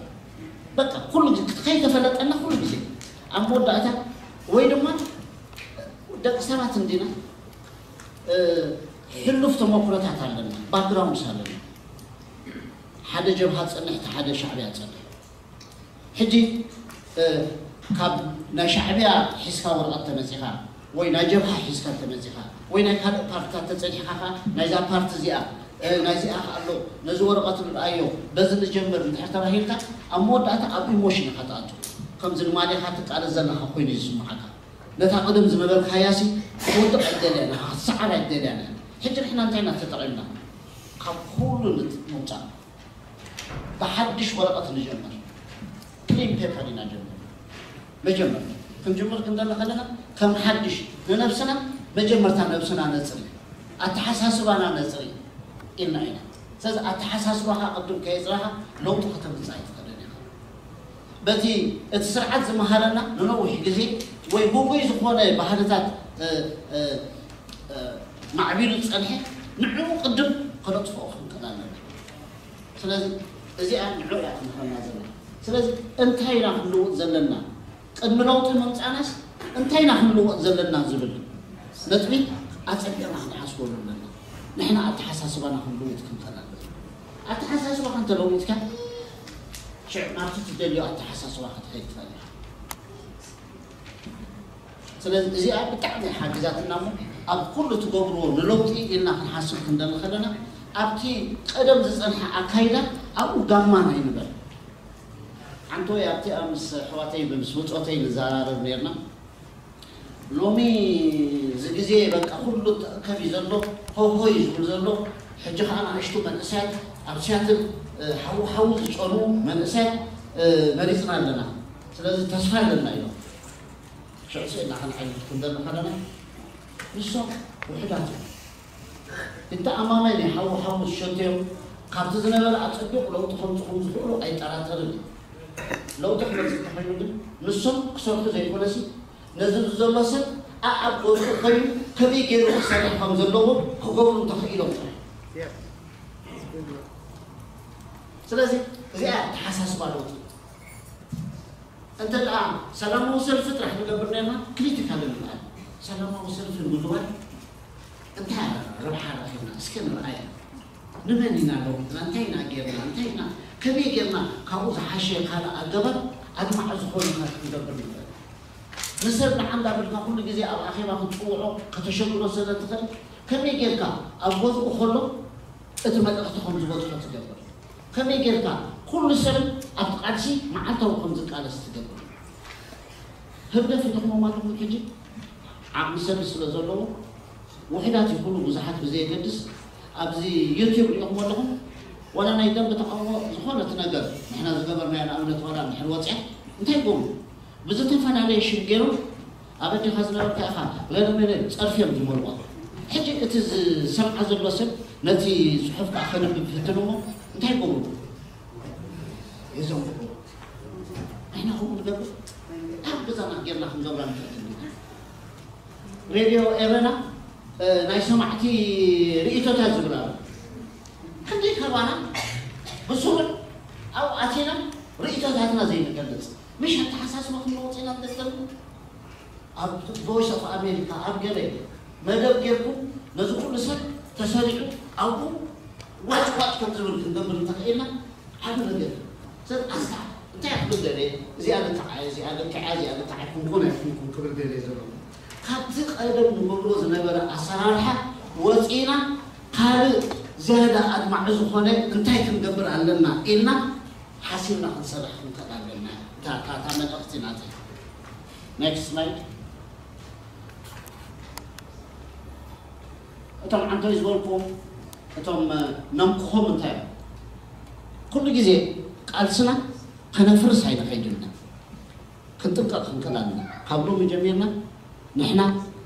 በቃ ኩሉ ግዜ ከይተፈለጠና ኩሉ ግዜ ኣብ መወዳእታ ወይ ድማ ደቂ ሰባት እንዲና፣ እ፣ ሕሉፍ ተመኩሮታት ኣለና፣ ባክግራውንድስ ኣለና። ሓደ ጀብሃ ጸንሕ፣ እቲ ሓደ ሻዕብያ ጸንሕ። ሕጂ፣ እ፣ ካብ ናይ ሻዕብያ ሒዝካ ወረቐት ተመጺኻ ወይ ናይ ጀብሃ ሒዝካ ተመጺኻ ወይ ናይ ካልእ ፓርትታት ተጸኒሕካ ከኣ ናይዛ ፓርቲ እዚኣ፣ እ፣ ናይዚኣ ከኣ ኣሎ፣ ነዚ ወረቐት ንርኣዮ፣ በዚ ንጀምር እንድሕር ተባሂልካ ኣብ መወዳእታ ኣብ ኢሞሽን ኢኻ ትኣቱ። ከምዚ ንማሊኻ ትቃለስ ዘለኻ ኮይኑ እዩ ዝስምዓካ። ነታ ቀደም ዝነበርካያሲ ክትወድቕ ኣይትደልያን ኢኻ፣ ክትሰዓር ኣይትደልያን ኢኻ። ሕጂ ንሕና እንታይ ኢና ተጠቒምና? ካብ ኩሉ ምውፃእ ብሓድሽ ወረቐት ንጀምር። ክሊን ፔፐር ኢና ጀምር። መጀመር ክንጅምር ክንደለ ከለና ከም ሓድሽ ንነብስና መጀመርታ ነብስና ነፅሪ፣ ኣተሓሳስባና ነፅሪ ኢልና ኢና። ስለዚ ኣተሓሳስባኻ ቅድም ከየፅራኻ ለውጢ ከተምፅእ ኣይትኽእልን ኢኻ። በቲ እቲ ስርዓት ዝመሃረና ንነዊሕ ግዜ ወይ ጉጉይ ዝኾነ ባህልታት እ፣ እ፣ እ፣ ማዕቢሉ ዝፀንሐ ንዕኡ ቅድም ከነጥፍኦ ክንክእል ኣለና። ስለዚ እዚኣ ንዕኡ እያ ትምህረና ዘላ። ስለዚ እንታይ ኢና ክንልውጥ ዘለና? ቅድሚ ለውጢ ምምፃእናስ እንታይ ኢና ክንልወጥ ዘለና ዝብል ነጥቢ ኣፀቢቕና ክንሓስበሉ ኣለና። ንሕና ኣተሓሳስባና ክንልውጥ ክንክእል ኣለና። ኣተሓሳስባኻ እንተለዊጥካ ሽዕ ናብቲ ትደልዮ ኣተሓሳስባ ክትኸይድ ትኽእል ኢኻ። ስለዚ እዚኣ ብጣዕሚ ሓጊዛትና እሞ ኣብ ኩሉ ትገብርዎ ንለውጢ ኢልና ክንሓስብ ክንደሊ ከለና ኣብቲ ቀደም ዝፀንሐ ኣካይዳ ኣብኡ ጋማን ኣይንበል። ሓንቲ ወይ ኣብቲኣ ምስ ኣሕዋተይ ምስ ብፆተይ ንዘራረብ ነርና። ሎሚ እዚ ግዜ በቃ ኩሉ ተእከብ እዩ ዘሎ፣ ሆሆ እዩ ዝብል ዘሎ። ሕጂ ከዓ ንኣሽቱ መንእሰያት ኣብ ሲያትል ሓዉ ሓዉ ዝፀኑ መንእሰያት መሪፅና ኣለና። ስለዚ ተስፋ ኣለና እዮም። ሽዑ ስእና ክንዓይነት ክንደሊ ከለና ንሶም ውሕዳት እዮም። እንተ ኣማመን ሓዉ ሓዉ ዝሸተዮም ካብቲ ዝነበረ ኣፀቢቑ ለውጢ ከምፅኹም ዝኽእሉ ኣይጠራጠርን እዩ። ለውጢ ክመፅእ እንተኮይኑ ግን ንሶም ክሰርሑ ዘይኮነሲ ነዚ ዘሎ ሰብ ኣኣብ ገዝኡ ኮይኑ ከመይ ገይሩ ክሰርሕ ከም ዘለዎ ክገብሩ እንተኽኢሎም ጥራሕ። ስለዚ እዚኣ ተሓሳስባ ለውጢ እንተ ደኣ ሰላማዊ ሰልፊ ጥራሕ ንገብር ነርና ክሪቲካል ንበሃል። ሰላማዊ ሰልፊ ንምግባር እንታይ ረብሓ ረኺብና እስከ ንርኣያ። ንመን ኢና ለዊጥና እንታይ ኢና ጌርና እንታይ ኢና ከመይ ጌርና ካብኡ ዝሓሸ ካልእ ኣገባብ ኣድማዒ ዝኾነ ክንገብር ንኽእል። ንሰብ ንዓንዳ ብልካ ኩሉ ግዜ ኣብ ኣኼባ ክትፅውዖ ከተሸግሮ ስለ ትኽእል ከመይ ጌርካ ኣብ ገዝኡ ከሎ እቲ መልእኽቲ ከም ዝበፅሖ ትገብር? ከመይ ጌርካ ኩሉ ሰብ ኣብቲ ቃልሲ መዓልታዊ ከም ዝቃለስ ትገብር? ህግደፍ ርኢኹሞም ኣለኹም ሕጂ ዓቕሚ ሰብ ስለ ዘለዎ ውሕዳት ይኹኑ ብዙሓት ብዘየገድስ ኣብዚ ዩቲዩብ ርኢኹም ኣለኹም። ዋላ ናይ ደንብ ተቃውሞ ዝኾነት ነገር ንሕና ዝገበርናዮ ንኣብነት ዋላ እንድሕር ወፅያ እንታይ ይገብሩ? ብዝተፈላለየ ሽም ገይሮም ኣብ ኣዴኻ ዝነበርካ ኢኻ ለለመለ ፀርፊ እዮም ዝመልዋ። ሕጂ እቲ ዝሰምዓ ዘሎ ሰብ ነቲ ፅሑፍ ከዓ ከነብብ ይፍትን እሞ እንታይ ይገብሩ? የዘንብዑ። ንሕና ከምኡ ንገብር ኣብ ገዛና ጌርና ክንገብራ ንፈትን። ሬድዮ ኤረና ናይ ሰማዕቲ ርእቶታት ዝብል ኣሎ። ክንደይ ከባና ብስሩዕ ኣብኡ ኣቲና ርእቶታትና ዘይንገልፅ ምሽ ኣተሓሳስባ ክንለወጥ ኢና ንደስተሉ ኣብ ቮይስ ኦፍ ኣሜሪካ ኣብ ገለ መደብ ጌርኩም ነዚ ኩሉ ሰብ ተሰሪዑ ኣብኡ ዋጭ ዋጭ ከም ዝብል ክንገብር እንተኽኢልና ዓቢ ነገር ሰብ ኣስታ እንታይ ክብል ደለ እዚኣ ልክዓ እዚኣ ልክዓ እዚኣ ልክዓ ኣይኮንኩን ኣይኮንኩም ክብል ደለ ዘሎ ካብቲ ቀደም ንገብሮ ዝነበረ ኣሰራርሓ ወፂና ካልእ ዝያዳ ኣድማዒ ዝኾነ እንታይ ክንገብር ኣለና ኢልና ሓሲብና ክንሰርሕ ክንክእል ኣለና። እታ እታ እታ መልእኽቲ ናተይ። ኔክስት ስላይድ። እቶም ዓንቶይ ዝበልኩ እቶም ነምክኾም እንታይ እዮም? ኩሉ ግዜ ቃልስና ከነፍርስ ኣይንኸይድና ክንጥንቀቕ ክንክእል ኣለና። ካብ ሎሚ ጀሚርና ንሕና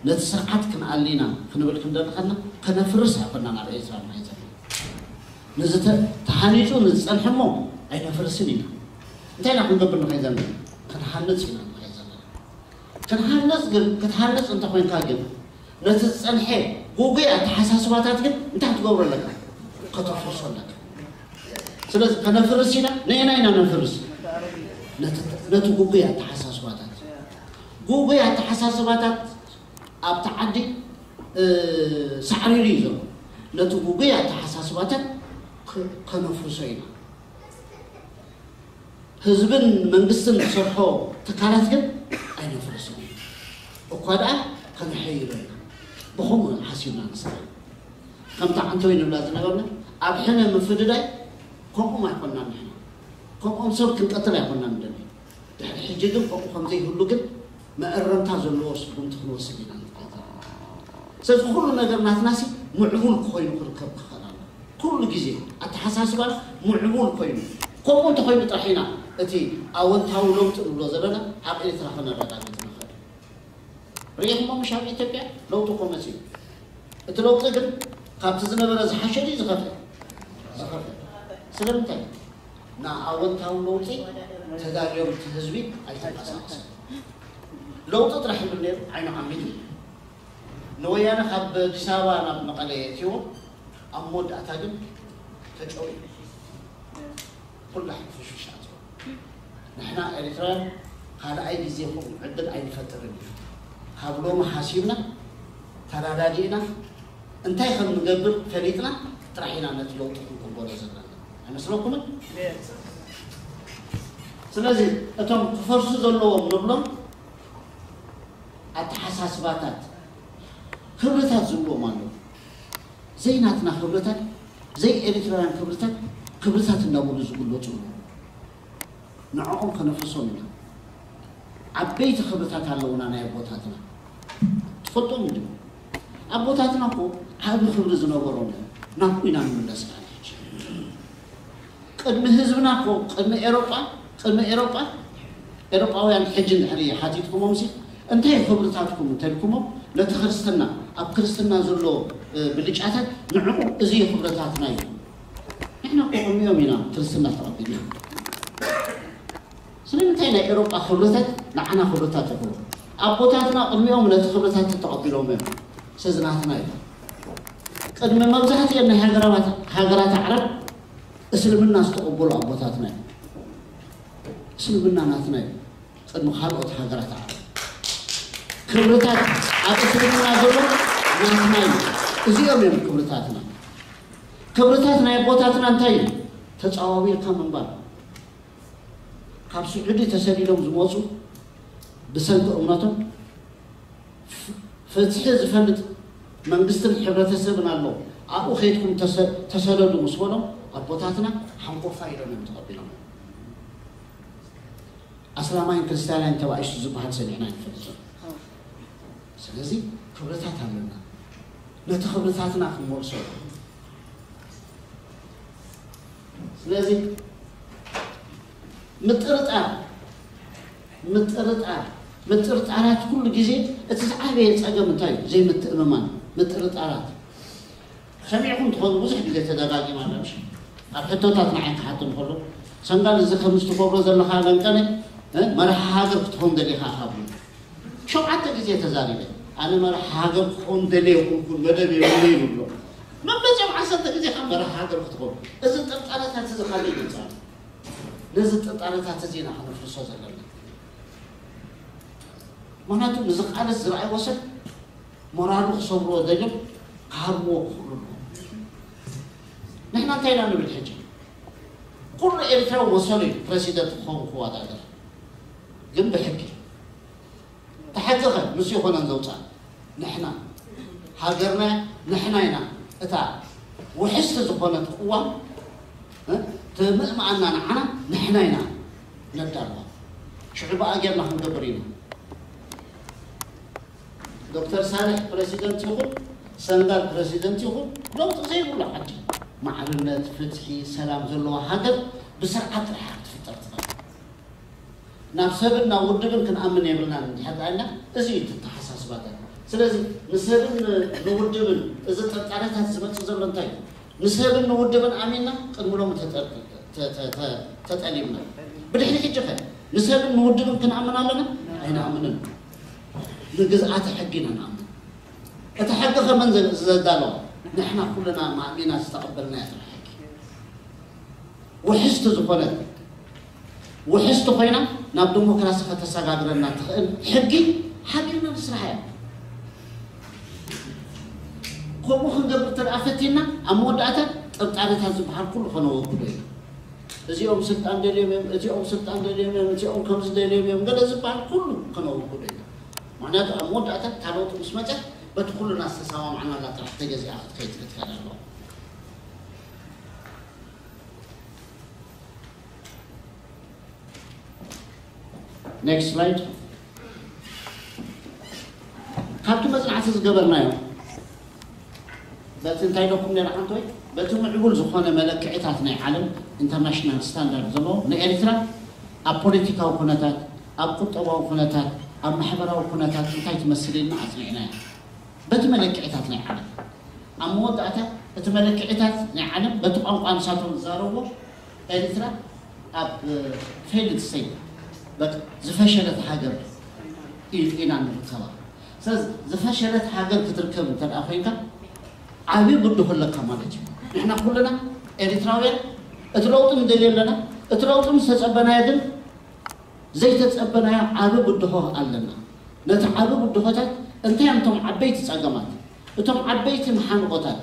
ነቲ ስርዓት ክንኣሊና ክንብል ክንደሊ ከለና ከነፍርስ ኣይኮና ናብ ኤርትራ ንኸይድ ዘለና። ንዝተ- ተሃኒፁ ንዝፀንሐ እሞ ኣይነፍርስን ኢና። እንታይ ኢና ክንገብር ንኸይድ ዘለና? ክንሃንፅ ኢና ንኸይድ ዘለና። ክንሃንፅ ግን ክትሃንፅ እንተኮይንካ ግን ነቲ ዝፀንሐ ጉጉይ ኣተሓሳስባታት ግን እንታይ ክትገብሮ ኣለካ? ከተፍርሶ ኣለካ። ስለዚ ከነፍርስ ኢና ነየና ኢና ነፍርስ? ነቲ ጉጉይ ኣተሓሳስባታት ጉጉይ ኣተሓሳስባታት ኣብቲ ዓዲ ሳዕሪሩ እዩ ዘሎ። ነቲ ጉጉይ ኣተሓሳስባታት ከነፍርሶ ኢና። ህዝብን መንግስትን ዝሰርሖ ትካላት ግን ኣይነፍርስን ኢና። እኳ ደኣ ከነሐይሎ ኢና። ብኸምኡ ሓሲብና ንሰርሕ። ከምቲ ዓንተወይ ንብላ ዝነበርና ኣብ ሕነ ምፍድዳይ ከምኦም ኣይኮንና ንሕና። ከምኦም ሰብ ክንቀትል ኣይኮንና ንደሊ። ድሕሪ ሕጂ ግን ከምኡ ከም ዘይህሉ ግን መእረምታ ዘለዎ ስጉምቲ ክንወስድ ኢና ንኽእል ዘለና። ስለዚ ኩሉ ነገር ናትናሲ ምዕቡል ኮይኑ ክርከብ ክኽእል ኣሎ። ኩሉ ግዜ ኣተሓሳስባ ምዕቡል ኮይኑ፣ ከምኡ እንተኮይኑ ጥራሕ ኢና እቲ ኣወንታዊ ለውጢ ንብሎ ዘለና ኣብ ኤርትራ ከነረጋግጽ ንኽእል። ርኢኹሞ ምሽ ኣብ ኢትዮጵያ ለውጢ እኮ መፅዩ። እቲ ለውጢ ግን ካብቲ ዝነበረ ዝሓሸ ድዩ ዝኸፍአ? ዝኸፍአ። ስለምንታይ? ንኣወንታዊ ለውጢ ተዳልዮም እቲ ህዝቢ ኣይተንቀሳቐሰን። ለውጢ ጥራሕ ይብል ነይሩ፣ ዓይኑ ዓሚቱ። ንወያነ ካብ ኣዲስ ኣበባ ናብ መቐለ የእትይዎ፣ ኣብ መወዳእታ ግን ተጨውዩ። ኩላ ሕንፍሽፍሽ ኣትዎ። ንሕና ኤርትራውያን ካልኣይ ግዜ ከምኡ ዕድል ኣይንፈጥርን ኢና። ካብ ሎሚ ሓሲብና ተረዳዲእና እንታይ ከም ንገብር ፈሊጥና ጥራሕ ኢና ነቲ ለውጢ ክንቅበሎ ዘለና። ኣይመስለኩምን? ስለዚ እቶም ክፈርሱ ዘለዎም ንብሎም ኣተሓሳስባታት ክብርታት ዝብልዎም ኣለዉ። ዘይናትና ክብርታት፣ ዘይ ኤርትራውያን ክብርታት፣ ክብርታት እናበሉ ዝግለጹ ኣለዉ። ንዕኦም ከነፍርሶም ኢና። ዓበይቲ ክብርታት ኣለዉና ናይ ኣቦታትና። ትፈልጦም እንዲኹም? ኣቦታትና እኮ ዓቢ ክብሪ ዝነበሮም እዮም። ናብኡ ኢና ንምለስ ኢና ሕጂ። ቅድሚ ህዝብና እኮ፣ ቅድሚ ኤሮጳ፣ ቅድሚ ኤሮጳ፣ ኤሮጳውያን ሕጂ እንድሕር ሓቲትኩሞም ሲ፣ እንታይ እዩ ክብርታትኩም እንተልኩሞም፣ ነቲ ክርስትና፣ ኣብ ክርስትና ዘሎ፣ እ፣ ብልጫታት ንዕኡ እዚ እዩ ክብርታትና እዩ። ንሕና እኮ ቅድሚኦም ኢና ክርስትና ተቐቢልና። ስለምንታይ ናይ ኤሮጳ ክብርታት ንዓና ክብርታት ይኹኑ? ኣቦታትና ቅድሚኦም ነቲ ክብርታት ተቐቢሎም እዮም። ስለዚ ናትና እዩ። ቅድሚ መብዛሕትኤን ናይ ሃገራባት-፣ ሃገራት ዓረብ እስልምና ዝተቐበሉ ኣቦታትና እዮም። እስልምና ናትና እዩ። ቅድሚ ካልኦት ሃገራት ዓረብ። ክብርታት ኣብ እስልምና ዘሎ ናትና እዩ። እዚኦም እዮም ክብርታትና። ክብርታት ናይ ኣቦታትና እንታይ እዩ? ተጻዋዊርካ ምንባር። ካብ ስዑዲ ተሰዲዶም ዝመጹ ብሰንኪ እምነቶም ፍ-፣ ፍትሒ ዝፈልጥ መንግስትን ሕብረተሰብን ኣሎ፣ ኣብኡ ከይድኩም ተሰ-፣ ተሰደዱ ምስ በሎም ኣቦታትና ሓንኮፋ ኢሎም እዮም ተቐቢሎም። ኣስላማይን ክርስትያናይን ተባኢሱ ዝበሃል ሰሚዕና ኣይንፈልጥን። ስለዚ ክብርታት ኣለና። ነቲ ክብርታትና ክንመልሶ። ስለዚ ምጥርጣር፣ ምጥርጣር፣ ምጥርጣራት ኩሉ ግዜ እቲ ዝዓበየ ጸገም እንታይ እዩ? ዘይምትእምማን፣ ምጥርጣራት። ሰሚዕኩም ትኾኑ፣ ብዙሕ ግዜ ተደጋጊማ ኣላ፣ ምሽ? ኣብ ሕቶታት ንዓይ ክሓቶም ከሎ፣ ሰንጋል፣ እዚ ከም ዝትገብሮ ዘለኻ ለንቀነ፣ እ፣ መራሒ ሃገር ክትኾን ደሊኻ ካብ ሸውዓተ ግዜ ተዛሪበ። ኣነ መራሒ ሃገር ክኾን ደልየ ይኹንኩን መደብ የብለይ ይብሎ። መመፅኦም ዓሰርተ ግዜ ካብ መራሒ ሃገር ክትኾን። እዚ ጥርጣረታት እዚ ካበይ ይመፅእ ኣሎ? ነዚ ጥርጣረታት እዚ ኢና ከነፍርሶ ዘለና። ምኽንያቱ ንዝቃለስ ዝረኣይዎ ሰብ ሞራሉ ክሰብርዎ ደልዮም ክሃርምዎ ክኽእሉ ኣለዎም። ንሕና እንታይ ኢና ንብል ሕጂ? ኩሉ ኤርትራዊ መሰሉ እዩ ፕረሲደንት ክኸውን ክወዳደር፣ ግን ብሕጊ። ተሓቂ ኸ ምስ ይኾነን ዘውፅኣ ንሕና፣ ሃገርና ንሕና ኢና። እታ ውሕስቲ ዝኾነት ቅዋም፣ እ፣ ትምእምኣና ንዓና ንሕና ኢና ነዳልዋ። ሽዑ ብኣ ጌርና ክንገብር ኢና። ዶክተር ሳልሕ ፕረሲደንት ይኹን፣ ሰንጋል ፕረሲደንት ይኹን፣ ለውጢ ዘይብሉ ዓዲ፣ ማዕርነት፣ ፍትሒ፣ ሰላም ዘለዋ ሃገር ብስርዓት ጥራሕ ክትፍጠር ትኽእል። ናብ ሰብን ናብ ውድብን ክንኣምን የብልናን እንድሕር ደኣ ኢልና፣ እዚ እዩ እቲ ኣተሓሳስባታት። ስለዚ ንሰብን ንውድብን እዚ ጥርጣረታት ዝመጽእ ዘሎ እንታይ እዩ? ንሰብን ንውድብን ኣሚንና ቅድሚ ሎሚ ተጠ-፣ ተ-፣ ተ-፣ ተ-፣ ተጠሊምና። ብድሕሪ ሕጂ ኸ ንሰብን ንውድብን ክንኣምን ኣለና? ኣይንኣምንን። ንግዝኣተ ሕጊ ኢና ንኣምን። እቲ ሕጊ ከመን ዘ-፣ ዘዳለዎ? ንሕና ኩልና ማእሚና ዝተቐበልናዮ ጥራሕ ሕጊ። ውሕስቲ ዝኾነት፣ ውሕስቲ ኮይና ናብ ዲሞክራሲ ከተሰጋግረና ትኽእል ሕጊ ሓቢርና ንስራሕ እያ። ከምኡ ክንገብር እንተ ደኣ ፈቲንና፣ ኣብ መወዳእታ ጥርጣረታት ዝበሃል ኩሉ ከነወግዶ ኢና። እዚኦም ስልጣን ደልዮም እዮም፣ እዚኦም ስልጣን ደልዮም እዮም፣ እዚኦም ከምዚ ደልዮም እዮም፣ ገለ ዝበሃል ኩሉ ከነወግዶ ኢና። ምኽንያቱ ኣብ መወዳእታ እታ ለውጢ ምስ መጸት፣ በቲ ኩልና ዝተሰማማዕናላ ጥራሕ ተገዚኣ ክትከይድ ክትክእል ኣለዋ። Next slide. ካብቲ መፅናዕቲ ዝገበርናዮ በቲ እንታይ ኢለኩም ነይረ ሓንቶይ፣ በቲ ምዕቡል ዝኾነ መለክዕታት ናይ ዓለም፣ ኢንተርናሽናል ስታንዳርድ ዘለዎ፣ ንኤርትራ ኣብ ፖለቲካዊ ኩነታት፣ ኣብ ቁጠባዊ ኩነታት፣ ኣብ ማሕበራዊ ኩነታት እንታይ ትመስል ኢልና ኣፅኒዕናዮ። በቲ መለክዕታት ናይ ዓለም፣ ኣብ መወዳእታ እቲ መለክዕታት ናይ ዓለም በቲ ቋንቋ ንሳቶም ዝዛረብዎ፣ ኤርትራ ኣብ ፌይልድ ስቴት፣ በቃ ዝፈሸለት ሃገር ኢና ንርከባ። ስለዚ ዝፈሸለት ሃገር ክትርከብ እንተ ኮይንካ፣ ዓብዪ ብድሆ ኣለካ ማለት እዩ። ንሕና ኩልና ኤርትራውያን እቲ ለውጢ ንደልዮ ኣለና። እቲ ለውጢ ምስ ተጸበናዮ ግን ዘይተጸበናዮ ዓቢ ብድሆ ኣለና። ነቲ ዓቢ ብድሆታት እንታይ እዮም እቶም ዓበይቲ ጸገማት፣ እቶም ዓበይቲ መሓንቆታት፣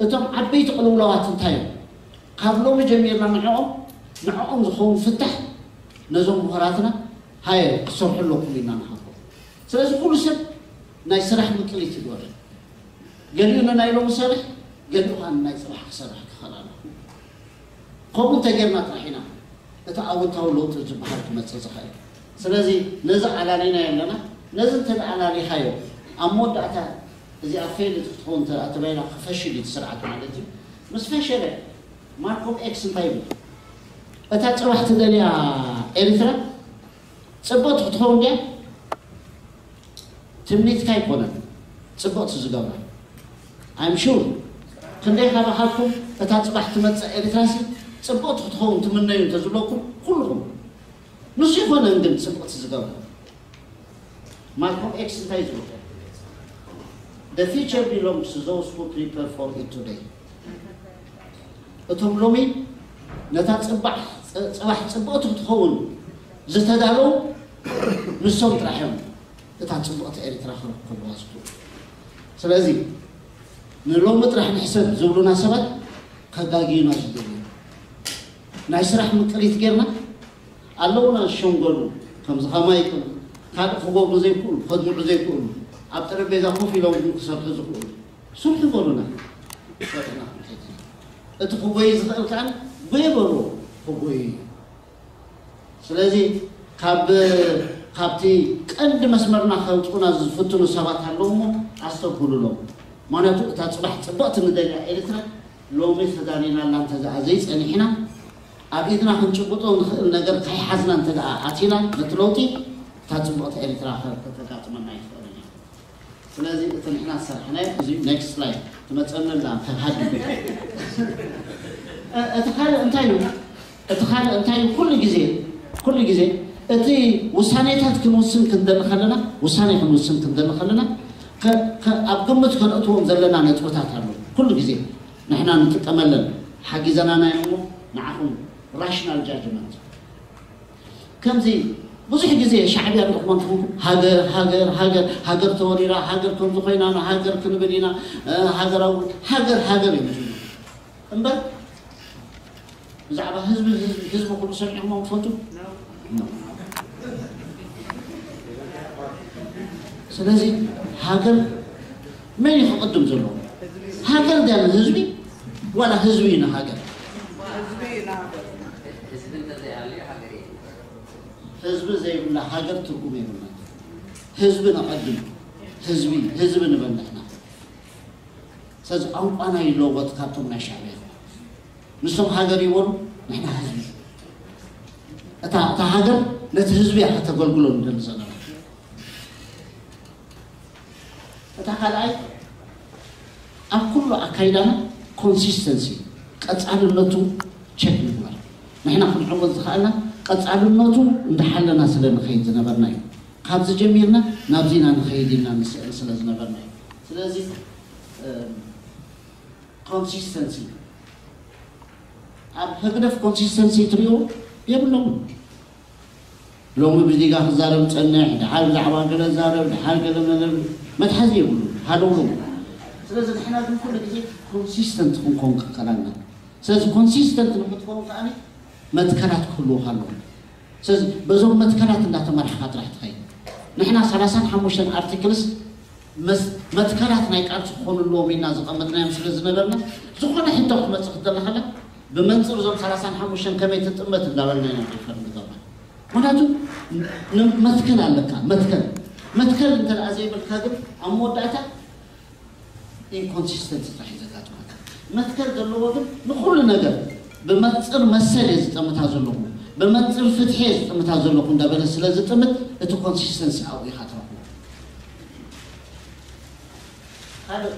እቶም ዓበይቲ ቅልውላዋት እንታይ እዮም? ካብ ሎሚ ጀሚርና ንዕኦም ንዕኦም ዝኸውን ፍታሕ ነዞም ምሁራትና ሃየ ክትሰርሑ ኣለኩም ኢልና ንሃቦ። ስለዚ ኩሉ ሰብ ናይ ስራሕ ምቅሊት ይግበር። ገሊኡ ንናይ ሎሚ ሰርሕ፣ ገሊኡ ከዓ ንናይ ጽባሕ ክሰርሕ ክኽእል ኣለዎ። ከምኡ እንተጌርና ጥራሕ ኢና እቲ ኣወንታዊ ለውጢ ዝበሃል ክመጽእ ዝኽእል። ስለዚ ነዚ ኣላሊና ኣለና። ነዚ እንተ ኣላሊኻዮ ኣብ መወዳእታ እዚኣ ፌል ክትኸውን እንተ ተባሂላ ክፈሽል እዩ እቲ ስርዓት ማለት እዩ። ምስ ፈሸለ ማልኮም ኤክስ እንታይ ይብል? እታ ጽባሕ ትደልያ ኤርትራ ጽብቕቲ ክትኸውን ድያ? ትምኒትካ ኣይኮነን ጽብቕቲ ዝገብራ። I'm sure ክንደይ ካባኻትኩም እታ ጽባሕ ትመጽእ ኤርትራሲ ጽብቕቲ ክትኸውን ትምነዩ እንተዝብለኩም ኩልኹም። ንሱ ይኮነን ግን ጽብቕቲ ዝገብራ። ማልኮም ኤክስ እንታይ ዝብል? The future belongs to those who prepare for it today. እቶም ሎሚ ነታ ጽባሕ ጽባሕ ጽብቕቲ ክትኸውን ዝተዳለዉ ንሶም ጥራሕ እዮም እታ ጽብቕቲ ኤርትራ ክረክቡዋ ዝኽእሉ። ስለዚ ንሎሚ ጥራሕ ንሕሰብ ዝብሉና ሰባት ከጋግዩና ዝደልዩ ናይ ስራሕ ምቅሊት ጌርና ኣለውና ዝሸንገሉ ከምዚ ከማይ ይቕሉ ካልእ ክገብሩ ዘይክእሉ ከድምዑ ዘይክእሉ ኣብ ጠረጴዛ ኮፍ ኢሎም ግን ክሰርሑ ዝኽእሉ ስርሑ በሉና። ሰርሕና ክንከይድ ኢና። እቲ ክጎይ ዝኽእል ከዓ ጎየ በልዎ ክጎይ እዩ። ስለዚ ካብ ካብቲ ቀንዲ መስመርና ከውፅኡና ዝፍትኑ ሰባት ኣለዉ እሞ ኣስተብህሉሎም። ማለቱ እታ ፅባሕ ፅብቕቲ ንደልያ ኤርትራ ሎሚ ተዳሊናላ እንተደኣ ዘይፀኒሕና ኣብ ኢድና ክንጭብጦ ንኽእል ነገር ካይሓዝና እንተደኣ ኣቲና ነቲ ለውጢ እታ ፅብቕቲ ኤርትራ ከተጋጥመና ይትኽእል እያ። ስለዚ እቲ ንሕና ዝሰርሕናዮ እዚ ኔክስት ስላይድ ትመፀኒ ኣላ ተሃዲ እቲ ካልእ እንታይ እዩ እቲ ካልእ እንታይ እዩ ኩሉ ግዜ ኩሉ ግዜ እቲ ውሳኔታት ክንውስን ክንደሊ ከለና ውሳኔ ክንውስን ክንደሊ ከለና ኣብ ግምት ከነእትዎም ዘለና ነጥብታት ኣለዉ ኩሉ ግዜ ንሕና ንጥቀመለን ሓጊዘናና እዮም እሞ ንዓኹም ራሽናል ጃጅመንት ከምዚ ብዙሕ ግዜ ሻዕብያ ንኹም ትኹም ሃገር ሃገር ሃገር ሃገር ተወሪራ ሃገር ከምዚ ኮይና ንሃገር ክንብል ኢና ሃገራዊ ሃገር ሃገር እዩ እምበር ብዛዕባ ህዝቢ ህዝቢ ህዝቢ ኩሉ ሰሚዕኹም ትፈልጡ ስለዚ ሃገር መን እዩ ክቕድም ዘለዎ ሃገር ድያ ንህዝቢ ዋላ ህዝቢ እዩ ንሃገር ህዝቢ ዘይብላ ሃገር ትርጉም የብላ ህዝቢ ነቐድም ህዝቢ ህዝቢ ንበል ንሕና ስለዚ ቋንቋና ይለወጥ ካብቶም ናይ ሻዕብያ ንሶም ሃገር ይበሉ ንሕና ህዝቢ እታ እታ ሃገር ነቲ ህዝቢ እያ ከተገልግሎ ንደሊ ዘለና እታ ካልኣይ ኣብ ኩሉ ኣካይዳና ኮንሲስተንሲ ቀፃልነቱ ቸክ ምግባር ንሕና ክንዕወት ዝኽኣልና ቀፃልነቱ እንዳሓለና ስለ ንኸይድ ዝነበርና እዩ ካብዚ ጀሚርና ናብዚና ንኸይድ ኢልና ንስዕር ስለ ዝነበርና እዩ ስለዚ ኮንሲስተንሲ ኣብ ህግደፍ ኮንሲስተንሲ ትሪኦ የብሎም ሎሚ ብዚጋ ክዛረብ ጸንሕ ድሓር ብዛዕባ ገለ ዛረብ ድሓር ገለ መለብ መትሓዚ የብሉ ሃደውሎም ስለዚ ንሕና ግን ኩሉ ግዜ ኮንሲስተንት ክንኮን ክከላና ስለዚ ኮንሲስተንት ንክትከውን ከኣ መትከላት ክህልውካ ኣለዎም ስለዚ በዞም መትከላት እንዳተመርሓኻ ጥራሕ ትኸይድ ንሕና ሰላሳን ሓሙሽተን ኣርቲክልስ መትከላት ናይ ቃልሲ ክኾኑ ኣለዎም ኢልና ዘቐመጥናዮም ስለ ዝነበርና ዝኾነ ሕቶ ክትመፅእ ክትደላ ከላ ብመንፅር እዞም ሰላሳን ሓሙሽተን ከመይ ትጥመት እንዳበልና ኢና ሪፈር ንገብራ ምክንያቱ ን- መትከል ኣለካ። መትከል መትከል እንተ ደኣ ዘይብልካ ግን ኣብ መወዳእታ ኢንኮንሲስተንሲ ጥራሕ እዩ ዘጋጥመካ። መትከል ዘለዎ ግን ንኹሉ ነገር ብመንፅር መሰል እየ ዝጠምታ ዘለኹ፣ ብመንፅር ፍትሒ እየ ዝጠምታ ዘለኹ እንዳበለ ስለ ዝጥምት እቲ ኮንሲስተንሲ ኣብኡ ኢኻ ትረኽቦ። ካልእ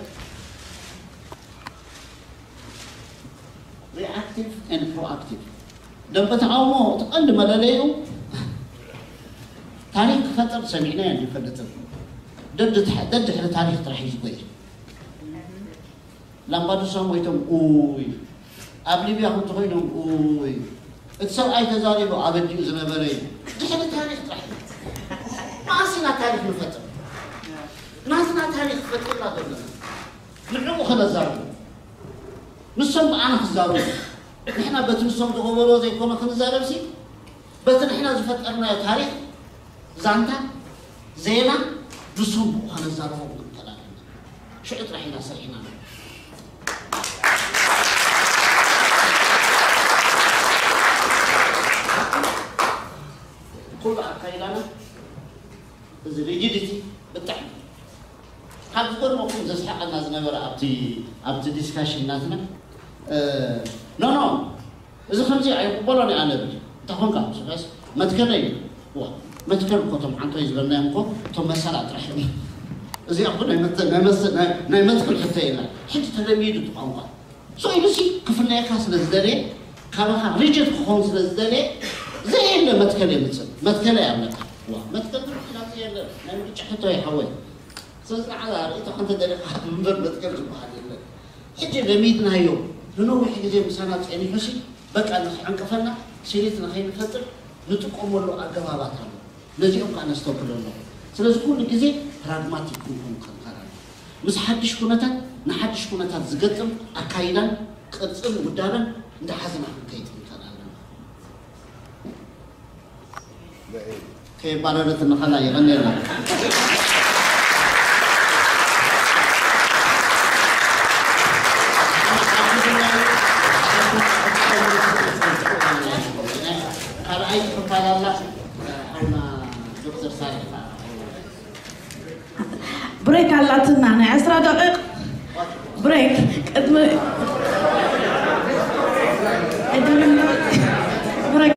ሪኣክቲቭ ኤንድ ፕሮኣክቲቭ። ደንበ ተቃውሞ እቲ ቀንዲ መለለይኡ ታሪክ ክፈጥር ሰሚዕናዮ ኣይንፈልጥን። ደድሕሪ ታሪክ ጥራሕ እዩ ዝጎይ። ላምባዱሳ ሞይቶም ኡይ፣ ኣብ ሊብያ ከምቲ ኮይኖም ኡይ፣ እቲ ሰብኣይ ተዛሪቡ ኣበዲኡ ዝነበረ እዩ። ድሕሪ ታሪክ ጥራሕ እዩ። መኣስ ኢና ታሪክ ንፈጥር? ናትና ታሪክ ፈጢርና ዘለና ንዕኡ ከነዛርቡ፣ ንሶም ብኣና ክዛረቡ። ንሕና በቲ ንሶም ዝገበርዎ ዘይኮነ ክንዛረብሲ፣ በቲ ንሕና ዝፈጠርናዮ ታሪክ፣ ዛንታ፣ ዜና፣ ንሶም ብኡ ከነዛርቦም ክንከላል ሽዑ ጥራሕ ኢና ሰሪሕና። ኩሉ ኣካይዳና እዚ ሪጂዲቲ ብጣዕሚ ካብ ዝገርመኩም ዘስሓቀና ዝነበረ ኣብቲ ኣብቲ ዲስካሽን ናትና ኖ ኖ እዚ ከምዚ ኣይቅበሎን እየ ኣነ ብል እንተ ኮንካ ስጋስ መትከለይ ዋ መትከል እኮ እቶም ሓንቶይ ዝበልናዮም እኮ እቶም መሰላ ጥራሕ እዮም። እዚኣ እኮ ናይ መትከል ናይ መትከል ሕቶ የላ። ሕጂ ተለሚዱ እቲ ቋንቋ ሶ ኢሉሲ ክፍለየካ ስለ ዝደልየ ካባኻ ሪጀክት ክኸውን ስለ ዝደልየ ዘየለ መትከል የምፅእ መትከለ ያብለካ ዋ መትከል ትርፊ ናብዚ የለ ናይ ምርጫ ሕቶ ይሓወይ ስለዚ ንዓዛ ርእይቶ ከንተ ደሊኻ ምንበር መትከል ዝበሃል የለን ሕጂ ለሚድናዮ ንነዊሕ ግዜ ምሳና ፀኒሑሲ በቃ ንክዕንቅፈና ስሪት ንኸይንፈጥር ንጥቀመሉ ኣገባባት ኣሎ ነዚኦም ከዓ ነስተብህሎ ኣለኹ ስለዚ ኩሉ ግዜ ፕራግማቲክ ክንኮን ክንከላል ምስ ሓድሽ ኩነታት ንሓድሽ ኩነታት ዝገጥም ኣካይዳን ቅርፅን ውዳበን እንዳሓዝና ክንከይድ ክንከል ኣለና ከየባረረት እንኸላ የቐንየልና ካልኣይ ክፋል ኣላ ሓውና ዶክተር ሳልሕ ብሬክ ኣላትና ናይ ዕስራ ደቂቕ ብሬክ ቅድሚ ቅድሚ ብሬክ